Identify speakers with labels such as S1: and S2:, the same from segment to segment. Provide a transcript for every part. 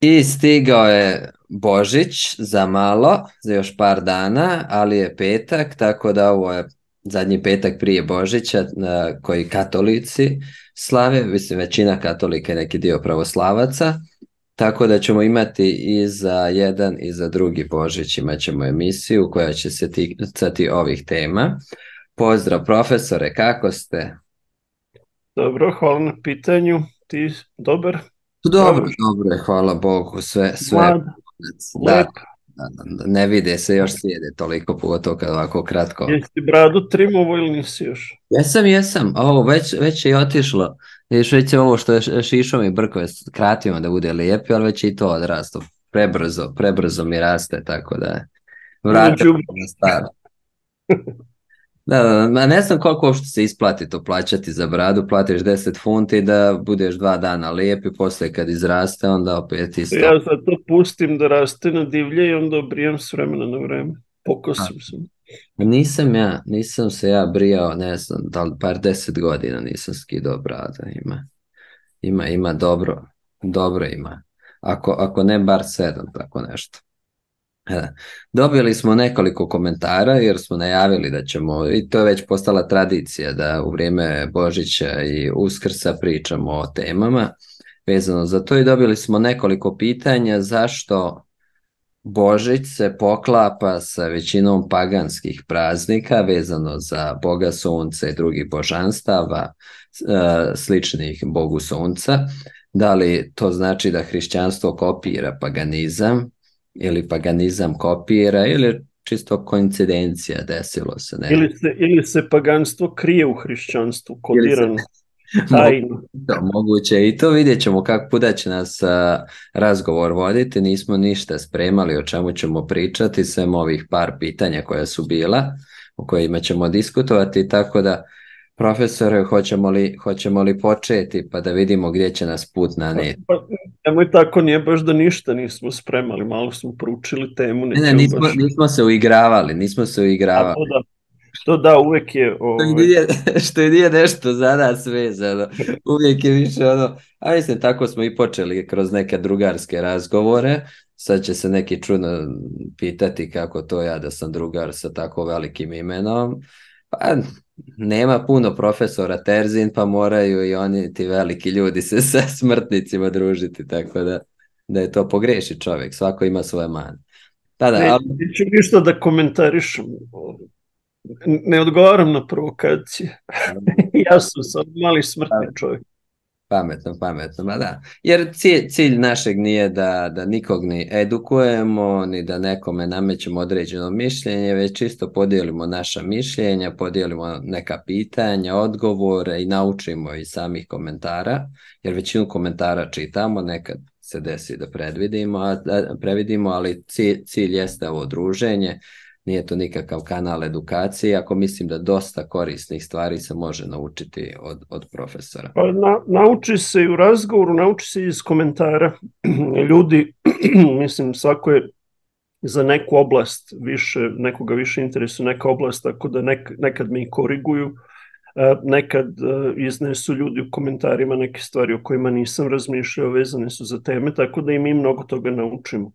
S1: I stigao je Božić za malo, za još par dana, ali je petak, tako da ovo je zadnji petak prije Božića koji katolici slave, mislim većina katolika je neki dio pravoslavaca, tako da ćemo imati i za jedan i za drugi Božić imat ćemo emisiju koja će se ticati ovih tema. Pozdrav profesore, kako ste?
S2: Dobro, hvala na pitanju. Ti dobar,
S1: Dobro,
S2: zdrav,
S1: dobro je, hvala Bogu, sve.
S2: mlad,
S1: Da,
S2: lep.
S1: ne vide se još slijede toliko, pogotovo kad ovako kratko.
S2: Jesi bradu trimovo ili nisi još?
S1: Jesam, ovo već je otišlo. Već je ovo što je šišom i brkove skratimo da bude lijepi, ali već je i to odrasto. Prebrzo mi raste, tako da je.
S2: Ono
S1: Vratimo
S2: đubre.
S1: se na staro. Da, ma ne znam koliko uopšte se isplati to plaćati za bradu, platiš 10 funti da budeš 2 dana lijep i poslije kad izraste onda opet isto.
S2: Ja sad to pustim da raste na divlje i onda obrijem s vremena na vreme. Pokosim se.
S1: Nisam se ja brijao, ne znam, da li par 10 godina nisam skidao brada, ima dobro ima. Ako ne bar 7, tako nešto. E, Dobili smo nekoliko komentara jer smo najavili da ćemo, i to je već postala tradicija, da u vrijeme Božića i Uskrsa pričamo o temama vezano za to i dobili smo nekoliko pitanja zašto Božić se poklapa sa većinom paganskih praznika vezano za Boga Sunca i drugih božanstava sličnih Bogu Sunca. Da li to znači da hrišćanstvo kopira paganizam ili paganizam kopira ili čisto koincidencija desilo se, ne?
S2: Ili se paganstvo krije u hrišćanstvu,
S1: Ili se
S2: kodirano, tajno.
S1: Moguće i to vidjet ćemo kako puda će nas razgovor voditi. Nismo ništa spremali o čemu ćemo pričati, sem ovih par pitanja koja su bila, o kojima ćemo diskutovati, tako da profesore, hoćemo li početi pa da vidimo gdje će nas put naneti?
S2: Pa, nemoj tako, nije baš da ništa nismo spremali, malo smo proučili temu,
S1: Ne,
S2: nećemo
S1: nismo,
S2: baš.
S1: nismo se uigravali, nismo se
S2: A
S1: uigravali.
S2: to da, uvek je.
S1: Što i nije nešto za nas vezano. Uvijek je više ono, a mislim tako smo i počeli kroz neke drugarske razgovore. Sad će se neki čudno pitati kako to ja da sam drugar sa tako velikim imenom. Pa nema puno profesora Terzin, pa moraju i oni ti veliki ljudi se sa smrtnicima družiti, tako da je to pogreši čovjek, svako ima svoje mane. Da, ali
S2: Neću ništa da komentarišem. Ne odgovaram na provokacije. Ja sam sad mali smrtni čovjek.
S1: pametno, ma da. Jer cilj našeg nije da nikog ni edukujemo, ni da nekome namećemo određeno mišljenje, već čisto podijelimo naša mišljenja, podijelimo neka pitanja, odgovore i naučimo iz samih komentara, jer većinu komentara čitamo, nekad se desi da previdimo, ali cilj jeste ovo druženje. Nije to nikakav kanal edukacije, ako mislim da dosta korisnih stvari se može naučiti od profesora.
S2: Pa nauči se i u razgovoru, nauči se i iz komentara. Ljudi, mislim, svako je za neku oblast nekoga više interesuje neka oblast, tako da nekad me i koriguju, nekad iznesu ljudi u komentarima neke stvari o kojima nisam razmišljao, vezane su za teme, tako da i mi mnogo toga naučimo.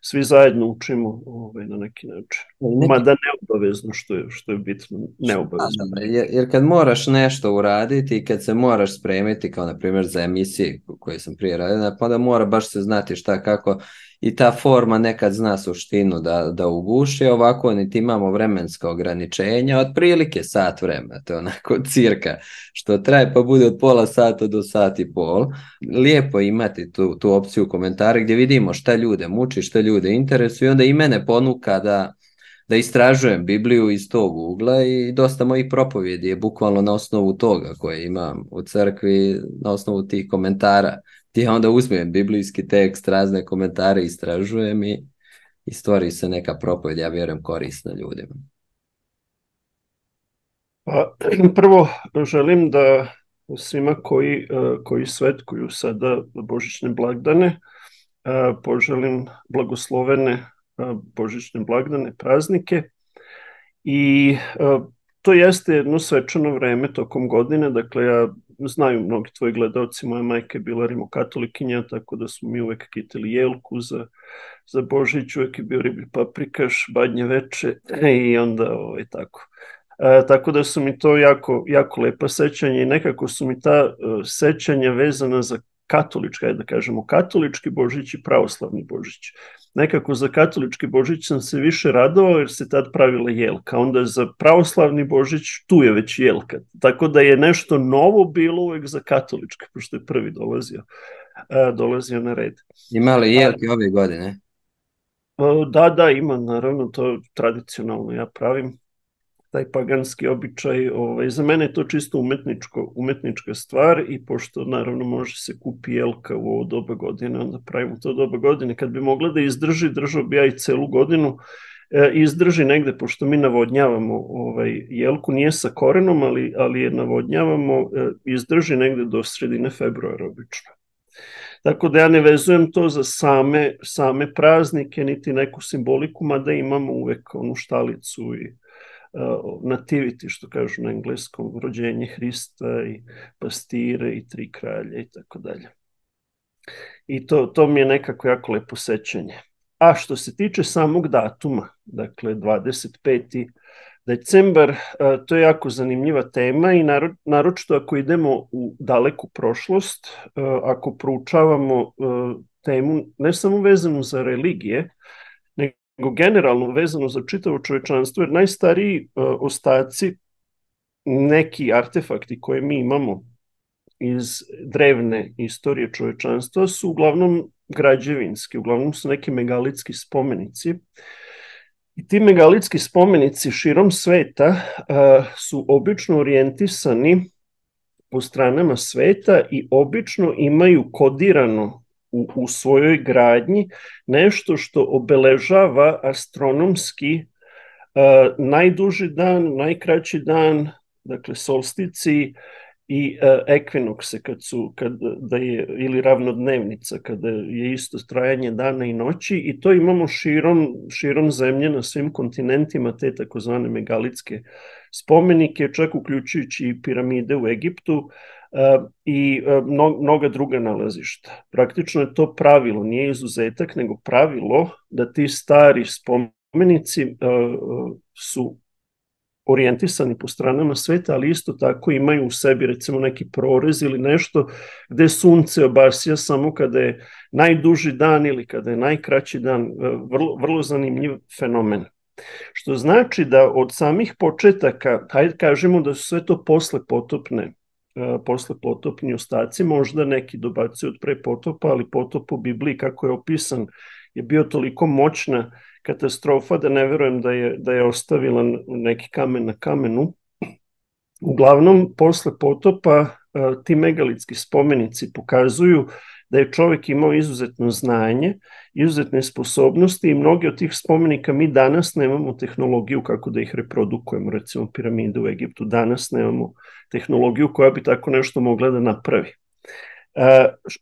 S2: Svi zajedno učimo na neki način. Mada neobavezno, što je bitno, neobavezno.
S1: Jer kad moraš nešto uraditi i kad se moraš spremiti, kao na primjer za emisije koje sam prije radio, pa onda mora baš se znati šta kako i ta forma nekad zna suštinu da uguši, ovako niti imamo vremenska ograničenja, otprilike sat vremena, to je onako cirka što traje, pa bude od pola sata do sat i pol. Lijepo je imati tu opciju komentara gdje vidimo šta ljude muči, šta ljude interesuje i onda i mene ponuka da istražujem Bibliju iz tog ugla i dosta mojih propovjedi je bukvalno na osnovu toga koje imam u crkvi, na osnovu tih komentara. Ti ja onda uzmem biblijski tekst, razne komentare istražujem i stvori se neka propovjed, ja vjerujem, korisna ljudima.
S2: Pa, prvo želim da svima koji svetkuju sada božićne blagdane poželim blagoslovene božićne blagdane, praznike i to jeste jedno svečano vreme tokom godine, dakle ja znaju mnogi tvoji gledalci, moja majka je bila rimokatolikinja, tako da smo mi uvek kitili jelku za Božić, uvek je bio riblji paprikaš, badnje veče i onda tako. Tako da su mi to jako, jako lepa sećanja i nekako su mi ta sećanja vezana za katolički, ajde da kažemo, katolički Božić i pravoslavni Božić. Nekako za katolički Božić sam se više radovao jer se tad pravila jelka, onda za pravoslavni Božić tu je već jelka. Tako da je nešto novo bilo uvek za katolički, pošto je prvi dolazio na red.
S1: Ima li jelke ove godine?
S2: Da, ima, naravno, to tradicionalno ja pravim. Taj paganski običaj, za mene je to čisto umetnička stvar i pošto naravno može se kupi jelka u ovo doba godine, onda pravimo to doba godine. Kad bi mogla da izdrži, držao bi ja i celu godinu, izdrži negde, pošto mi navodnjavamo jelku, nije sa korenom, ali je navodnjavamo, izdrži negde do sredine februara obično. Tako da ja ne vezujem to za same praznike, niti neku simboliku, mada imamo uvek onu štalicu i nativity, što kažu na engleskom, rođenje Hrista i pastire i tri kralja i tako dalje. I to mi je nekako jako lepo sećanje. A što se tiče samog datuma, dakle 25. decembar, to je jako zanimljiva tema i naročito ako idemo u daleku prošlost, ako proučavamo temu ne samo vezanu za religije, nego generalno vezano za čitavo čovečanstvo, jer najstariji ostaci, neki artefakti koje mi imamo iz drevne istorije čovečanstva su uglavnom građevinski, uglavnom su neki megalitski spomenici. I ti megalitski spomenici širom sveta su obično orijentisani po stranama sveta i obično imaju kodirano u svojoj gradnji nešto što obeležava astronomski najduži dan, najkraći dan, dakle solstici i ekvinokse kada je, ili ravnodnevnica, kada je isto trajanje dana i noći, i to imamo širom zemlje na svim kontinentima, te takozvane megalitske spomenike, čak uključujući i piramide u Egiptu i mnoga druga nalazišta. Praktično je to pravilo, nije izuzetak, nego pravilo da ti stari spomenici su orijentisani po stranama sveta, ali isto tako imaju u sebi recimo neki prorez ili nešto gde sunce obasja samo kada je najduži dan ili kada je najkraći dan, vrlo zanimljiv fenomen. Što znači da od samih početaka, hajde kažemo da su sve to poslepotopni ostaci, možda neki dobacuju od pre potopa, ali potop u Bibliji kako je opisan je bio toliko moćna katastrofa da ne verujem da je ostavila neki kamen na kamenu. Uglavnom, posle potopa ti megalitski spomenici pokazuju da je čovek imao izuzetno znanje, izuzetne sposobnosti i mnogi od tih spomenika mi danas nemamo tehnologiju kako da ih reprodukujemo. Recimo piramide u Egiptu danas nemamo tehnologiju koja bi tako nešto mogla da napravi.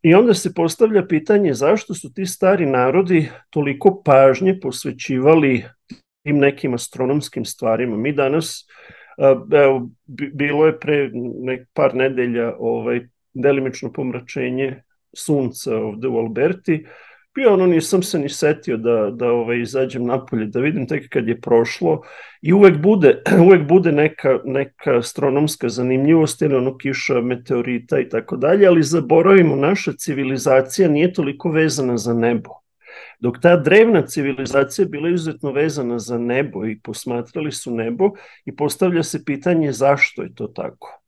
S2: I onda se postavlja pitanje zašto su ti stari narodi toliko pažnje posvećivali tim nekim astronomskim stvarima. Mi danas, bilo je pre par nedelja delimično pomračenje sunca ovde u Alberti, i nisam se ni setio da izađem napolje, da vidim tek kad je prošlo, i uvek bude neka astronomska zanimljivost ili kiša meteorita i tako dalje, ali zaboravimo, naša civilizacija nije toliko vezana za nebo. Dok ta drevna civilizacija bila izuzetno vezana za nebo i posmatrali su nebo i postavlja se pitanje zašto je to tako.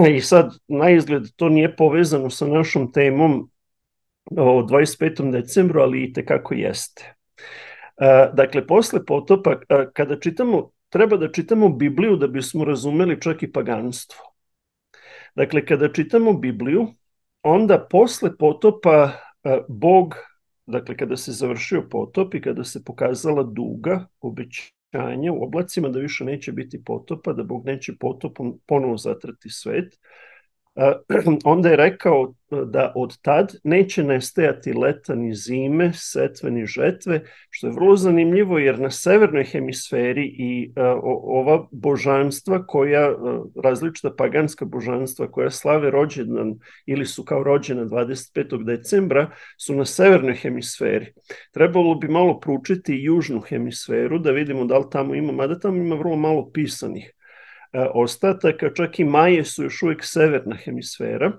S2: I sad, na izgled, to nije povezano sa našom temom o 25. decembru, ali i tekako jeste. Dakle, posle potopa, kada čitamo, treba da čitamo Bibliju da bismo razumeli čak i paganstvo. Dakle, kada čitamo Bibliju, onda posle potopa Bog, dakle, kada se završio potop i kada se pokazala duga, obećanje u oblacima da više neće biti potopa, da Bog neće potopom ponovo zatrati svet, Onda je rekao da od tad neće nestajati leta ni zime, setve ni žetve, što je vrlo zanimljivo jer na severnoj hemisferi i ova božanstva koja, različita paganska božanstva koja slave rođendan ili su kao rođena 25. decembra su na severnoj hemisferi. Trebalo bi malo proučiti južnu hemisferu da vidimo da li tamo ima, mada tamo ima vrlo malo pisanih ostataka, čak i Maje su još uvijek severna hemisfera,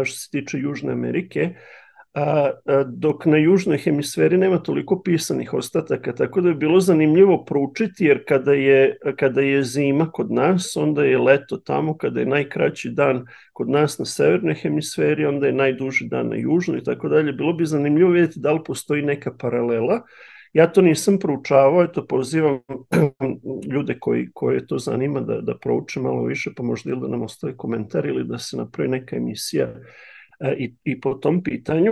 S2: što se tiče Južne Amerike, dok na južnoj hemisferi nema toliko pisanih ostataka, tako da je bilo zanimljivo proučiti, jer kada je zima kod nas, onda je leto tamo, kada je najkraći dan kod nas na severnoj hemisferi, onda je najduži dan na južnoj i tako dalje. Bilo bi zanimljivo vidjeti da li postoji neka paralela. Ja to nisam proučavao, eto pozivam ljude koje to zanima da prouče malo više, pa možda ili da nam ostaje komentar ili da se napravi neka emisija i po tom pitanju.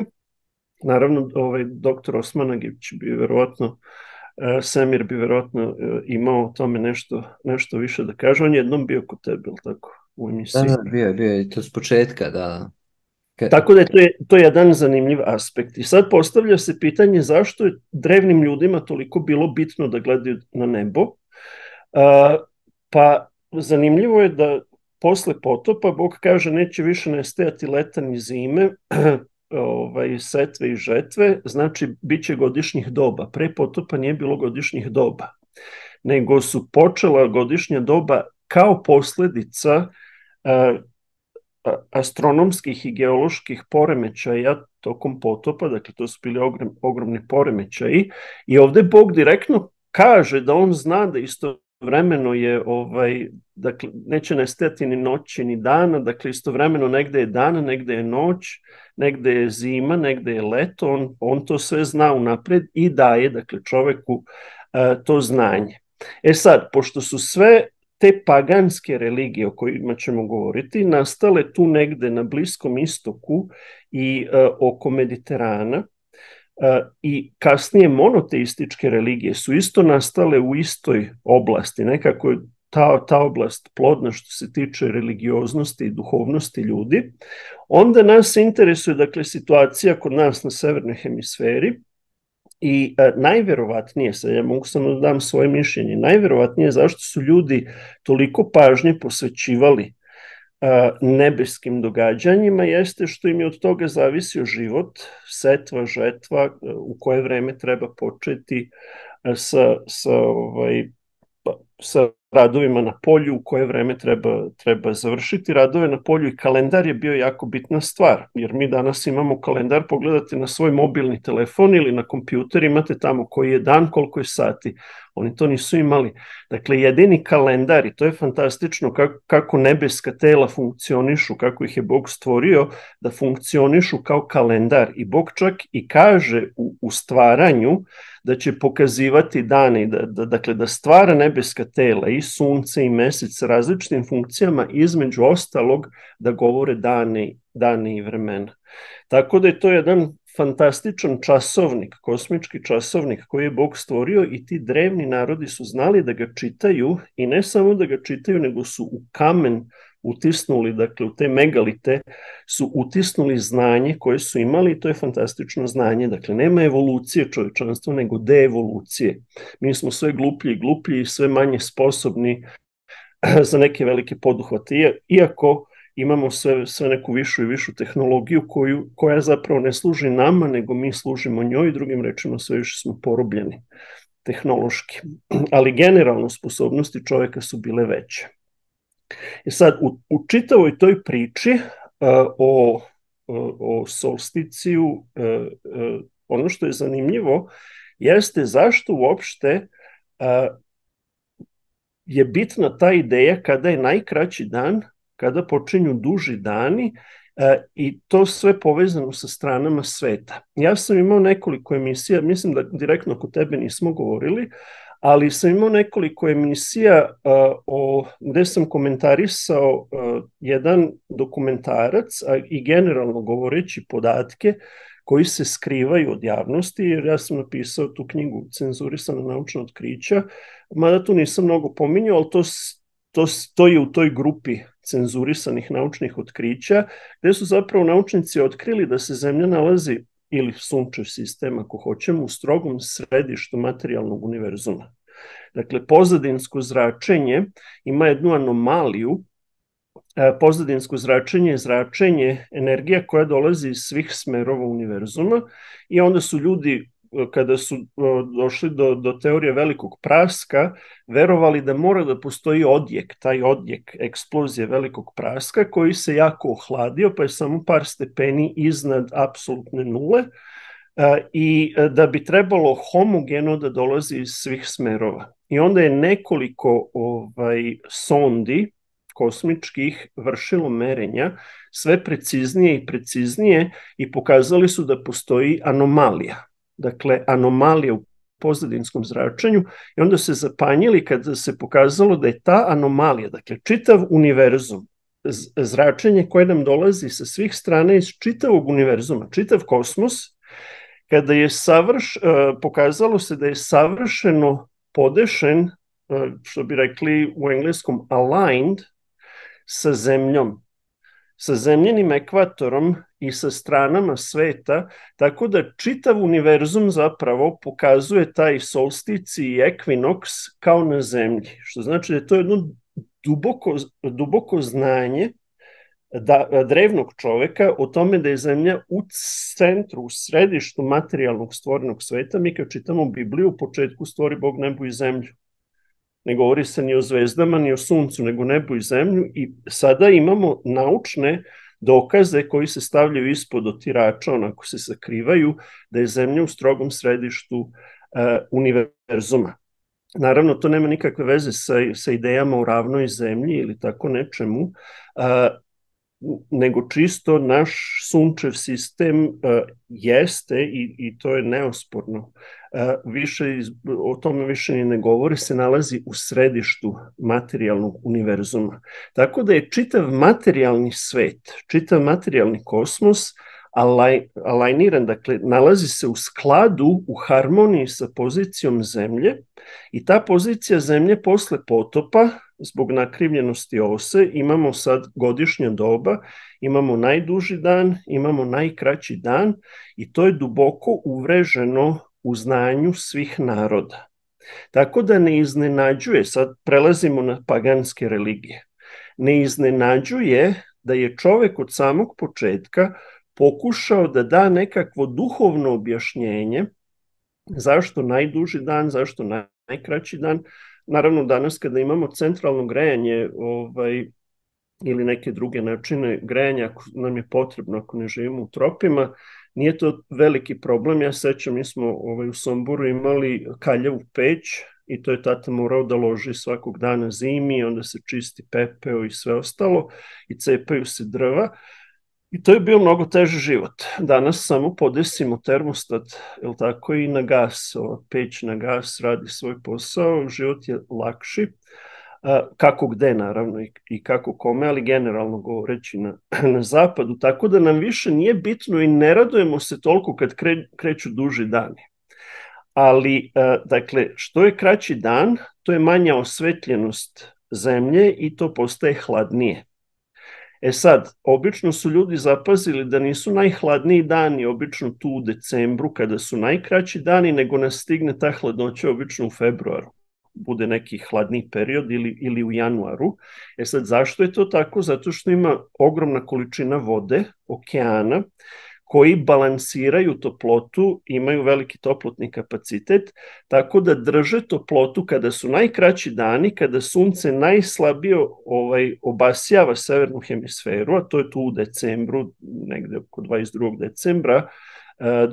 S2: Naravno, doktor Osmanagić bi verovatno, Semir bi verovatno imao o tome nešto više da kaže. On je jednom bio kod tebe, ili tako, u emisiji?
S1: Da, bio je to s početka, da.
S2: Tako da je to jedan zanimljiv aspekt. I sad postavlja se pitanje zašto je drevnim ljudima toliko bilo bitno da gledaju na nebo. Pa zanimljivo je da posle potopa Bog kaže neće više nestajati leta ni zime, setve i žetve, znači bit će godišnjih doba. Pre potopa nije bilo godišnjih doba, nego su počela godišnja doba kao posledica astronomskih i geoloških poremećaja tokom potopa, dakle to su bili ogromni poremećaji, i ovde Bog direktno kaže da on zna da istovremeno je, dakle neće nestajati ni noći ni dana, dakle istovremeno negde je dan, negde je noć, negde je zima, negde je leto, on to sve zna unapred i daje, dakle, čoveku to znanje. Sad, pošto su sve te paganske religije o kojima ćemo govoriti nastale tu negde na Bliskom istoku i oko Mediterana, i kasnije monoteističke religije su isto nastale u istoj oblasti, nekako je ta oblast plodna što se tiče religioznosti i duhovnosti ljudi, onda nas interesuje, dakle, situacija kod nas na severnoj hemisferi. I najverovatnije, sad ja mogu samo da dam svoje mišljenje, najverovatnije zašto su ljudi toliko pažnje posvećivali nebeskim događanjima jeste što im je od toga zavisio život, setva, žetva, u koje vreme treba početi sa radovima na polju, u koje vreme treba završiti radove na polju, i kalendar je bio jako bitna stvar, jer mi danas imamo kalendar, pogledate na svoj mobilni telefon ili na kompjuter, imate tamo koji je dan, koliko je sati. Oni to nisu imali. Dakle, jedini kalendar, i to je fantastično kako nebeska tela funkcionišu, kako ih je Bog stvorio da funkcionišu kao kalendar. I Bog čak i kaže u stvaranju da će pokazivati dane, dakle da stvara nebeska tela i sunce i mesec sa različitim funkcijama, između ostalog da govore dane i vremena. Tako da je to jedan fantastičan časovnik, kosmički časovnik koji je Bog stvorio, i ti drevni narodi su znali da ga čitaju, i ne samo da ga čitaju, nego su u kamen utisnuli, dakle u te megalite su utisnuli znanje koje su imali, i to je fantastično znanje. Dakle, nema evolucije čovečanstva, nego deevolucije. Mi smo sve gluplji i gluplji i sve manje sposobni za neke velike poduhvate, iako imamo sve neku višu i višu tehnologiju koja zapravo ne služi nama, nego mi služimo njoj, drugim rečima sve više smo porobljeni tehnološki. Ali generalno sposobnosti čoveka su bile veće. I sad, u čitavoj toj priči o solsticiju, ono što je zanimljivo jeste zašto uopšte je bitna ta ideja kada je najkraći dan, kada počinju duži dani, i to sve povezano sa stranama sveta. Ja sam imao nekoliko emisija, mislim da direktno kod tebe nismo govorili, ali sam imao nekoliko emisija gde sam komentarisao jedan dokumentarac, i generalno govoreći podatke koji se skrivaju od javnosti, jer ja sam napisao tu knjigu Cenzurisana naučna otkrića, mada tu nisam mnogo pominjao, ali to je u toj grupi cenzurisanih naučnih otkrića, gde su zapravo naučnici otkrili da se Zemlja nalazi, ili sunčev sistem ako hoćemo, u strogom središtu materijalnog univerzuma. Dakle, pozadinsko zračenje ima jednu anomaliju. Pozadinsko zračenje je zračenje energija koja dolazi iz svih smerova univerzuma i onda su ljudi, kada su došli do teorije velikog praska, verovali da mora da postoji odjek, taj odjek eksplozije velikog praska koji se jako ohladio, pa je samo par stepeni iznad apsolutne nule, i da bi trebalo homogeno da dolazi iz svih smerova. I onda je nekoliko sondi kosmičkih vršilo merenja, sve preciznije i preciznije, i pokazali su da postoji anomalija. Dakle, anomalija u pozadinskom zračenju, i onda se zapanjili kada se pokazalo da je ta anomalija, dakle, čitav univerzum, zračenje koje nam dolazi sa svih strana iz čitavog univerzuma, čitav kosmos, kada je pokazalo se da je savršeno podešen, što bi rekli u engleskom aligned, sa Zemljom, sa zemljenim ekvatorom i sa stranama sveta, tako da čitav univerzum zapravo pokazuje taj solstici i ekvinoks kao na Zemlji, što znači da je to jedno duboko znanje drevnog čoveka o tome da je Zemlja u centru, u središtu materijalnog stvorenog sveta. Mi kad čitamo Bibliju, u početku stvori Bog nebo i zemlju. Ne govori se ni o zvezdama, ni o suncu, nego nebu i zemlju, i sada imamo naučne dokaze koji se stavljaju ispod otirača, onako se sakrivaju, da je Zemlja u strogom središtu univerzuma. Naravno, to nema nikakve veze sa idejama o ravnoj zemlji ili tako nečemu, nego čisto naš sunčev sistem jeste, i to je neosporno, o tome više ni ne govori, se nalazi u središtu materijalnog univerzuma. Tako da je čitav materijalni svet, čitav materijalni kosmos alajniran, dakle, nalazi se u skladu, u harmoniji sa pozicijom Zemlje, i ta pozicija Zemlje posle potopa, zbog nakrivljenosti ose, imamo sad godišnja doba, imamo najduži dan, imamo najkraći dan, i to je duboko uvreženo u znanju svih naroda. Tako da ne iznenađuje, sad prelazimo na paganske religije, ne iznenađuje da je čovek od samog početka pokušao da da nekakvo duhovno objašnjenje zašto najduži dan, zašto najkraći dan. Naravno, danas kada imamo centralno grejanje ili neke druge načine grejanja, ako nam je potrebno, ako ne živimo u tropima, nije to veliki problem. Ja sećam, mi smo u Somboru imali kaljavu peć, i to je tata morao da loži svakog dana zimi, onda se čisti pepeo i sve ostalo, i cepaju se drva. I to je bio mnogo teži život. Danas samo podesimo termostat, jel tako, i na gas, peć na gas radi svoj posao, život je lakši, kako gde naravno i kako kome, ali generalno govoreći na zapadu, tako da nam više nije bitno i ne radujemo se toliko kad kreću duži dani. Ali, dakle, što je kraći dan, to je manja osvetljenost Zemlje i to postaje hladnije. Sad, obično su ljudi zapazili da nisu najhladniji dani obično tu u decembru kada su najkraći dani, nego nas stigne ta hladnoća obično u februaru. Bude neki hladniji period ili u januaru. Sad, zašto je to tako? Zato što ima ogromna količina vode, okeana, koji balansiraju toplotu, imaju veliki toplotni kapacitet, tako da drže toplotu kada su najkraći dani, kada sunce najslabije obasjava severnu hemisferu, a to je tu u decembru, negde oko 22. decembra,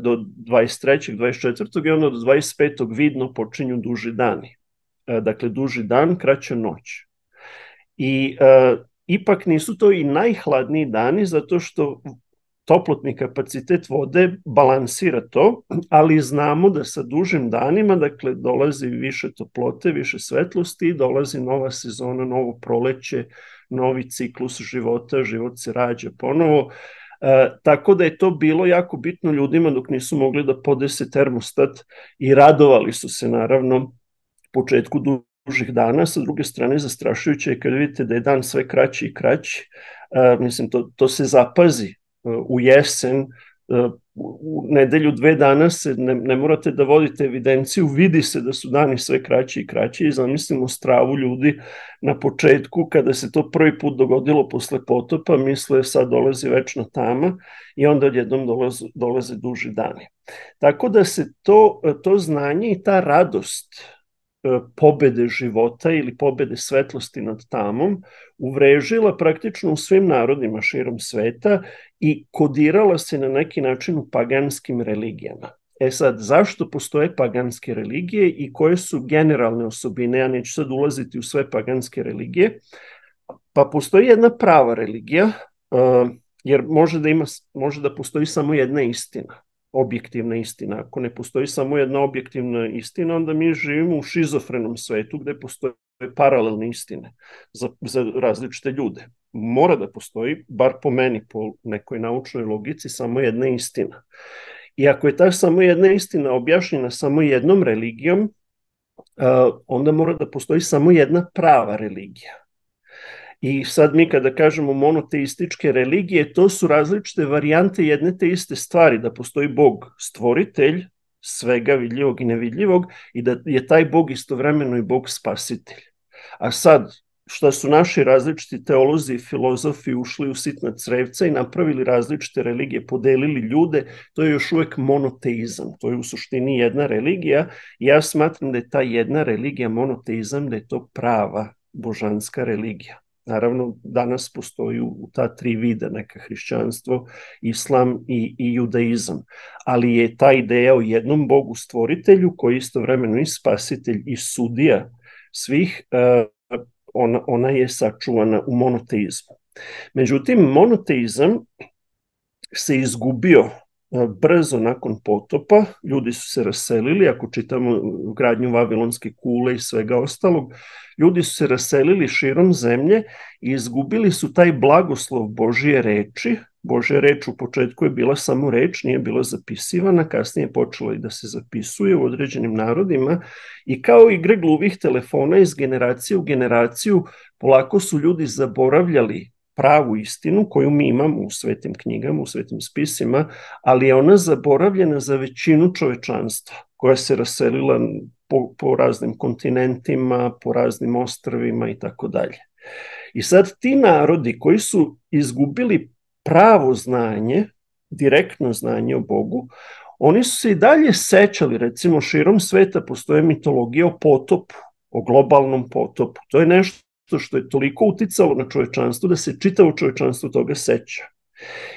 S2: do 23. 24. i onda do 25. vidno počinju duži dani. Dakle, duži dan, kraća noć. I ipak nisu to i najhladniji dani, zato što toplotni kapacitet vode balansira to, ali znamo da sa dužim danima, dakle, dolazi više toplote, više svetlosti, dolazi nova sezona, novo proleće, novi ciklus života, život se rađa ponovo. Tako da je to bilo jako bitno ljudima dok nisu mogli da podese termostat, i radovali su se naravno početku dužih dana, sa druge strane zastrašujuće je kad vidite da je dan sve kraći i kraći. Mislim, to se zapazi u jesen, u nedelju 2 dana se ne morate da vodite evidenciju, vidi se da su dani sve kraći i kraći i zamislimo stravu ljudi na početku kada se to prvi put dogodilo posle potopa, misle sad dolazi večna tama i onda odjednom dolaze duži dani. Tako da se to znanje i ta radost pobede života ili pobede svetlosti nad tamom uvrežila praktično u svim narodima širom sveta i kodirala se na neki način u paganskim religijama. Sad, zašto postoje paganske religije i koje su generalne osobine? Ja neću sad ulaziti u sve paganske religije. Pa postoji jedna prava religija, jer može da postoji samo jedna istina, objektivna istina. Ako ne postoji samo jedna objektivna istina, onda mi živimo u šizofrenom svetu gde postoje paralelne istine za različite ljude. Mora da postoji, bar po meni, po nekoj naučnoj logici, samo jedna istina. I ako je ta samo jedna istina objašnjena samo jednom religijom, onda mora da postoji samo jedna prava religija. I sad mi kada kažemo monoteističke religije, to su različite varijante jedne te iste stvari, da postoji Bog stvoritelj svega vidljivog i nevidljivog i da je taj Bog istovremeno i Bog spasitelj. A sad, šta su naši različiti teolozi i filozofi ušli u sitna crevca i napravili različite religije, podelili ljude, to je još uvek monoteizam. To je u suštini jedna religija i ja smatram da je ta jedna religija monoteizam, da je to prava božanska religija. Naravno, danas postoji u ta 3 vida, neka hrišćanstvo, islam i judaizam. Ali je ta ideja o jednom Bogu stvoritelju, koji je istovremeno i spasitelj i sudija svih, ona je sačuvana u monoteizmu. Međutim, monoteizam se izgubio brzo nakon potopa, ljudi su se raselili, ako čitamo gradnju Vavilonske kule i svega ostalog, ljudi su se raselili širom zemlje i izgubili su taj blagoslov Božije reči. Božja reč u početku je bila samo reč, nije bila zapisivana, kasnije je počela i da se zapisuje u određenim narodima i kao igre gluvih telefona iz generacije u generaciju polako su ljudi zaboravljali pravu istinu koju mi imamo u svetim knjigama, u svetim spisima, ali je ona zaboravljena za većinu čovečanstva koja se raselila po raznim kontinentima, po raznim ostrvima i tako dalje. I sad ti narodi koji su izgubili pravo znanje, direktno znanje o Bogu, oni su se i dalje sećali, recimo širom sveta postoje mitologija o potopu, o globalnom potopu. To je nešto što je toliko uticalo na čovečanstvo da se čitavo čovečanstvo toga seća.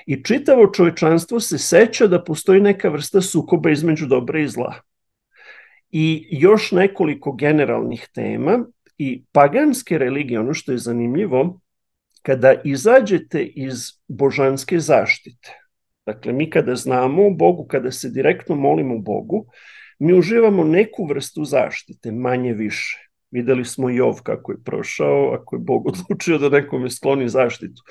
S2: I čitavo čovečanstvo se seća da postoji neka vrsta sukoba između dobra i zla. I još nekoliko generalnih tema i paganske religije, ono što je zanimljivo, kada izađete iz božanske zaštite, dakle mi kada znamo o Bogu, kada se direktno molimo Bogu, mi uživamo neku vrstu zaštite, manje više. Videli smo Jov kako je prošao, ako je Bog odlučio da nekome skloni zaštitu.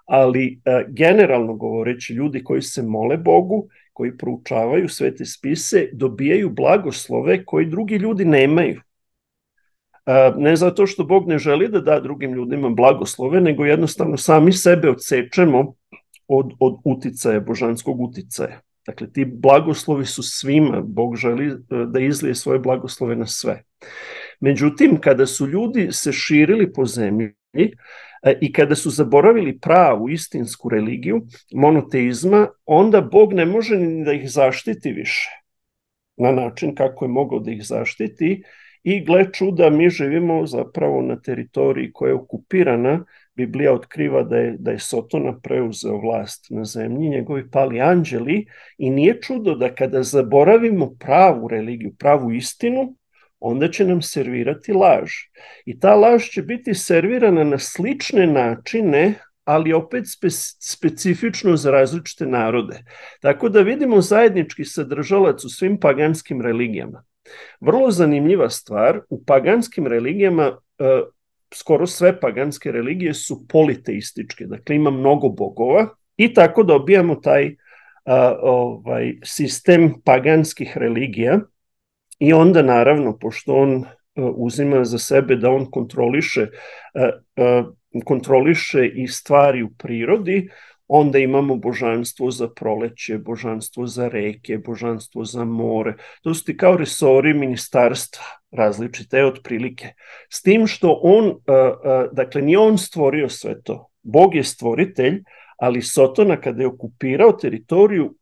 S2: Ali generalno govoreći, ljudi koji se mole Bogu, koji proučavaju svete spise, dobijaju blagoslove koji drugi ljudi nemaju. Ne zato što Bog ne želi da da drugim ljudima blagoslove, nego jednostavno sami sebe odsečemo od uticaja, božanskog uticaja. Dakle, ti blagoslovi su svima, Bog želi da izlije svoje blagoslove na sve. Međutim, kada su ljudi se širili po zemlji i kada su zaboravili pravu, istinsku religiju, monoteizma, onda Bog ne može ni da ih zaštiti više na način kako je mogao da ih zaštiti i gle čuda, mi živimo zapravo na teritoriji koja je okupirana. Biblija otkriva da je Sotona preuzeo vlast na zemlji, njegovi pali anđeli i nije čudo da kada zaboravimo pravu religiju, pravu istinu, onda će nam servirati laž. I ta laž će biti servirana na slične načine, ali opet specifično za različite narode. Tako da vidimo zajednički sadržalac u svim paganskim religijama. Vrlo zanimljiva stvar, u paganskim religijama, skoro sve paganske religije su politeističke, dakle ima mnogo bogova i tako dobijamo taj sistem paganskih religija. I onda naravno, pošto on uzima za sebe da on kontroliše i stvari u prirodi, onda imamo božanstvo za proleće, božanstvo za reke, božanstvo za more. To su ti kao resori ministarstva različite otprilike. S tim što on, dakle, nije on stvorio sve to. Bog je stvoritelj, ali Sotona kada je okupirao teritoriju,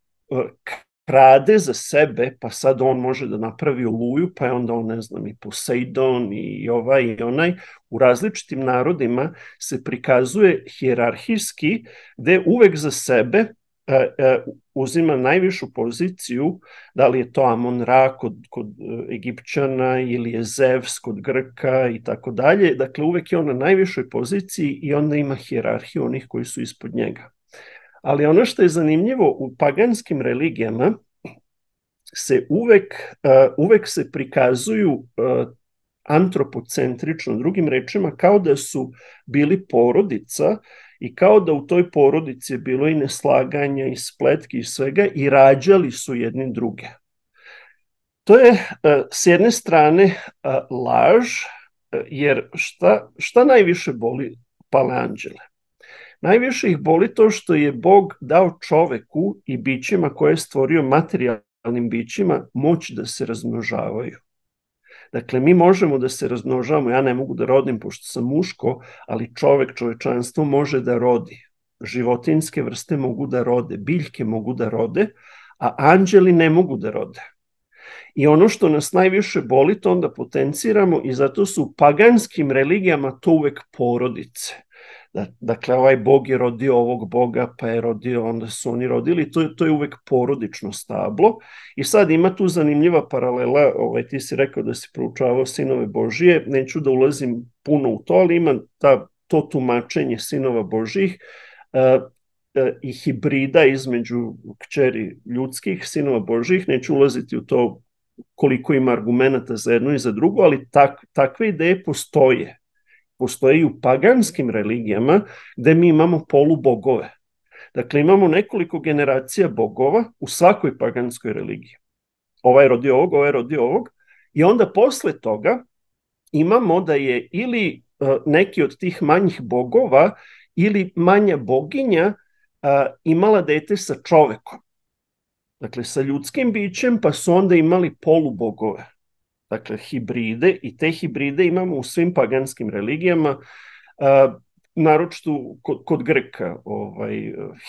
S2: krade za sebe, pa sad on može da napravi oluju, pa je onda on, ne znam, i Poseidon i ovaj i onaj. U različitim narodima se prikazuje hijerarhijski, gde uvek za sebe uzima najvišu poziciju, da li je to Amon-Ra kod Egipćana ili je Zevs kod Grka i tako dalje. Dakle, uvek je on na najvišoj poziciji i onda ima hijerarhiju onih koji su ispod njega. Ali ono što je zanimljivo u paganskim religijama se uvek se prikazuju antropocentrično, drugim rečima, kao da su bili porodica i kao da u toj porodici je bilo i neslaganja i spletki i svega i rađali su jedni druge. To je s jedne strane laž, jer šta najviše boli paleanđele? Najviše ih boli to što je Bog dao čoveku i bićima koje je stvorio, materijalnim bićima, moć da se razmnožavaju. Dakle, mi možemo da se razmnožavamo, ja ne mogu da rodim pošto sam muško, ali čovečanstvo može da rodi. Životinjske vrste mogu da rode, biljke mogu da rode, a anđeli ne mogu da rode. I ono što nas najviše boli, to onda potenciramo i zato su u paganskim religijama to uvek porodice. Dakle, ovaj bog je rodio ovog boga, pa je rodio, onda su oni rodili, to je uvek porodično stablo. I sad ima tu zanimljiva paralela, ti si rekao da si proučavao sinove Božije, neću da ulazim puno u to, ali ima to tumačenje sinova Božijih i hibrida između kćeri ljudskih, sinova Božijih, neću ulaziti u to koliko ima argumenta za jedno i za drugo, ali takve ideje postoje. Postoje i u paganskim religijama gde mi imamo polubogove. Dakle, imamo nekoliko generacija bogova u svakoj paganskoj religiji. Ovaj rodio ovog, ovaj rodio ovog. I onda posle toga imamo da je ili neki od tih manjih bogova ili manja boginja imala dete sa čovekom. Dakle, sa ljudskim bićem, pa su onda imali polubogove. Dakle, hibride, i te hibride imamo u svim paganskim religijama, naročito kod Grka,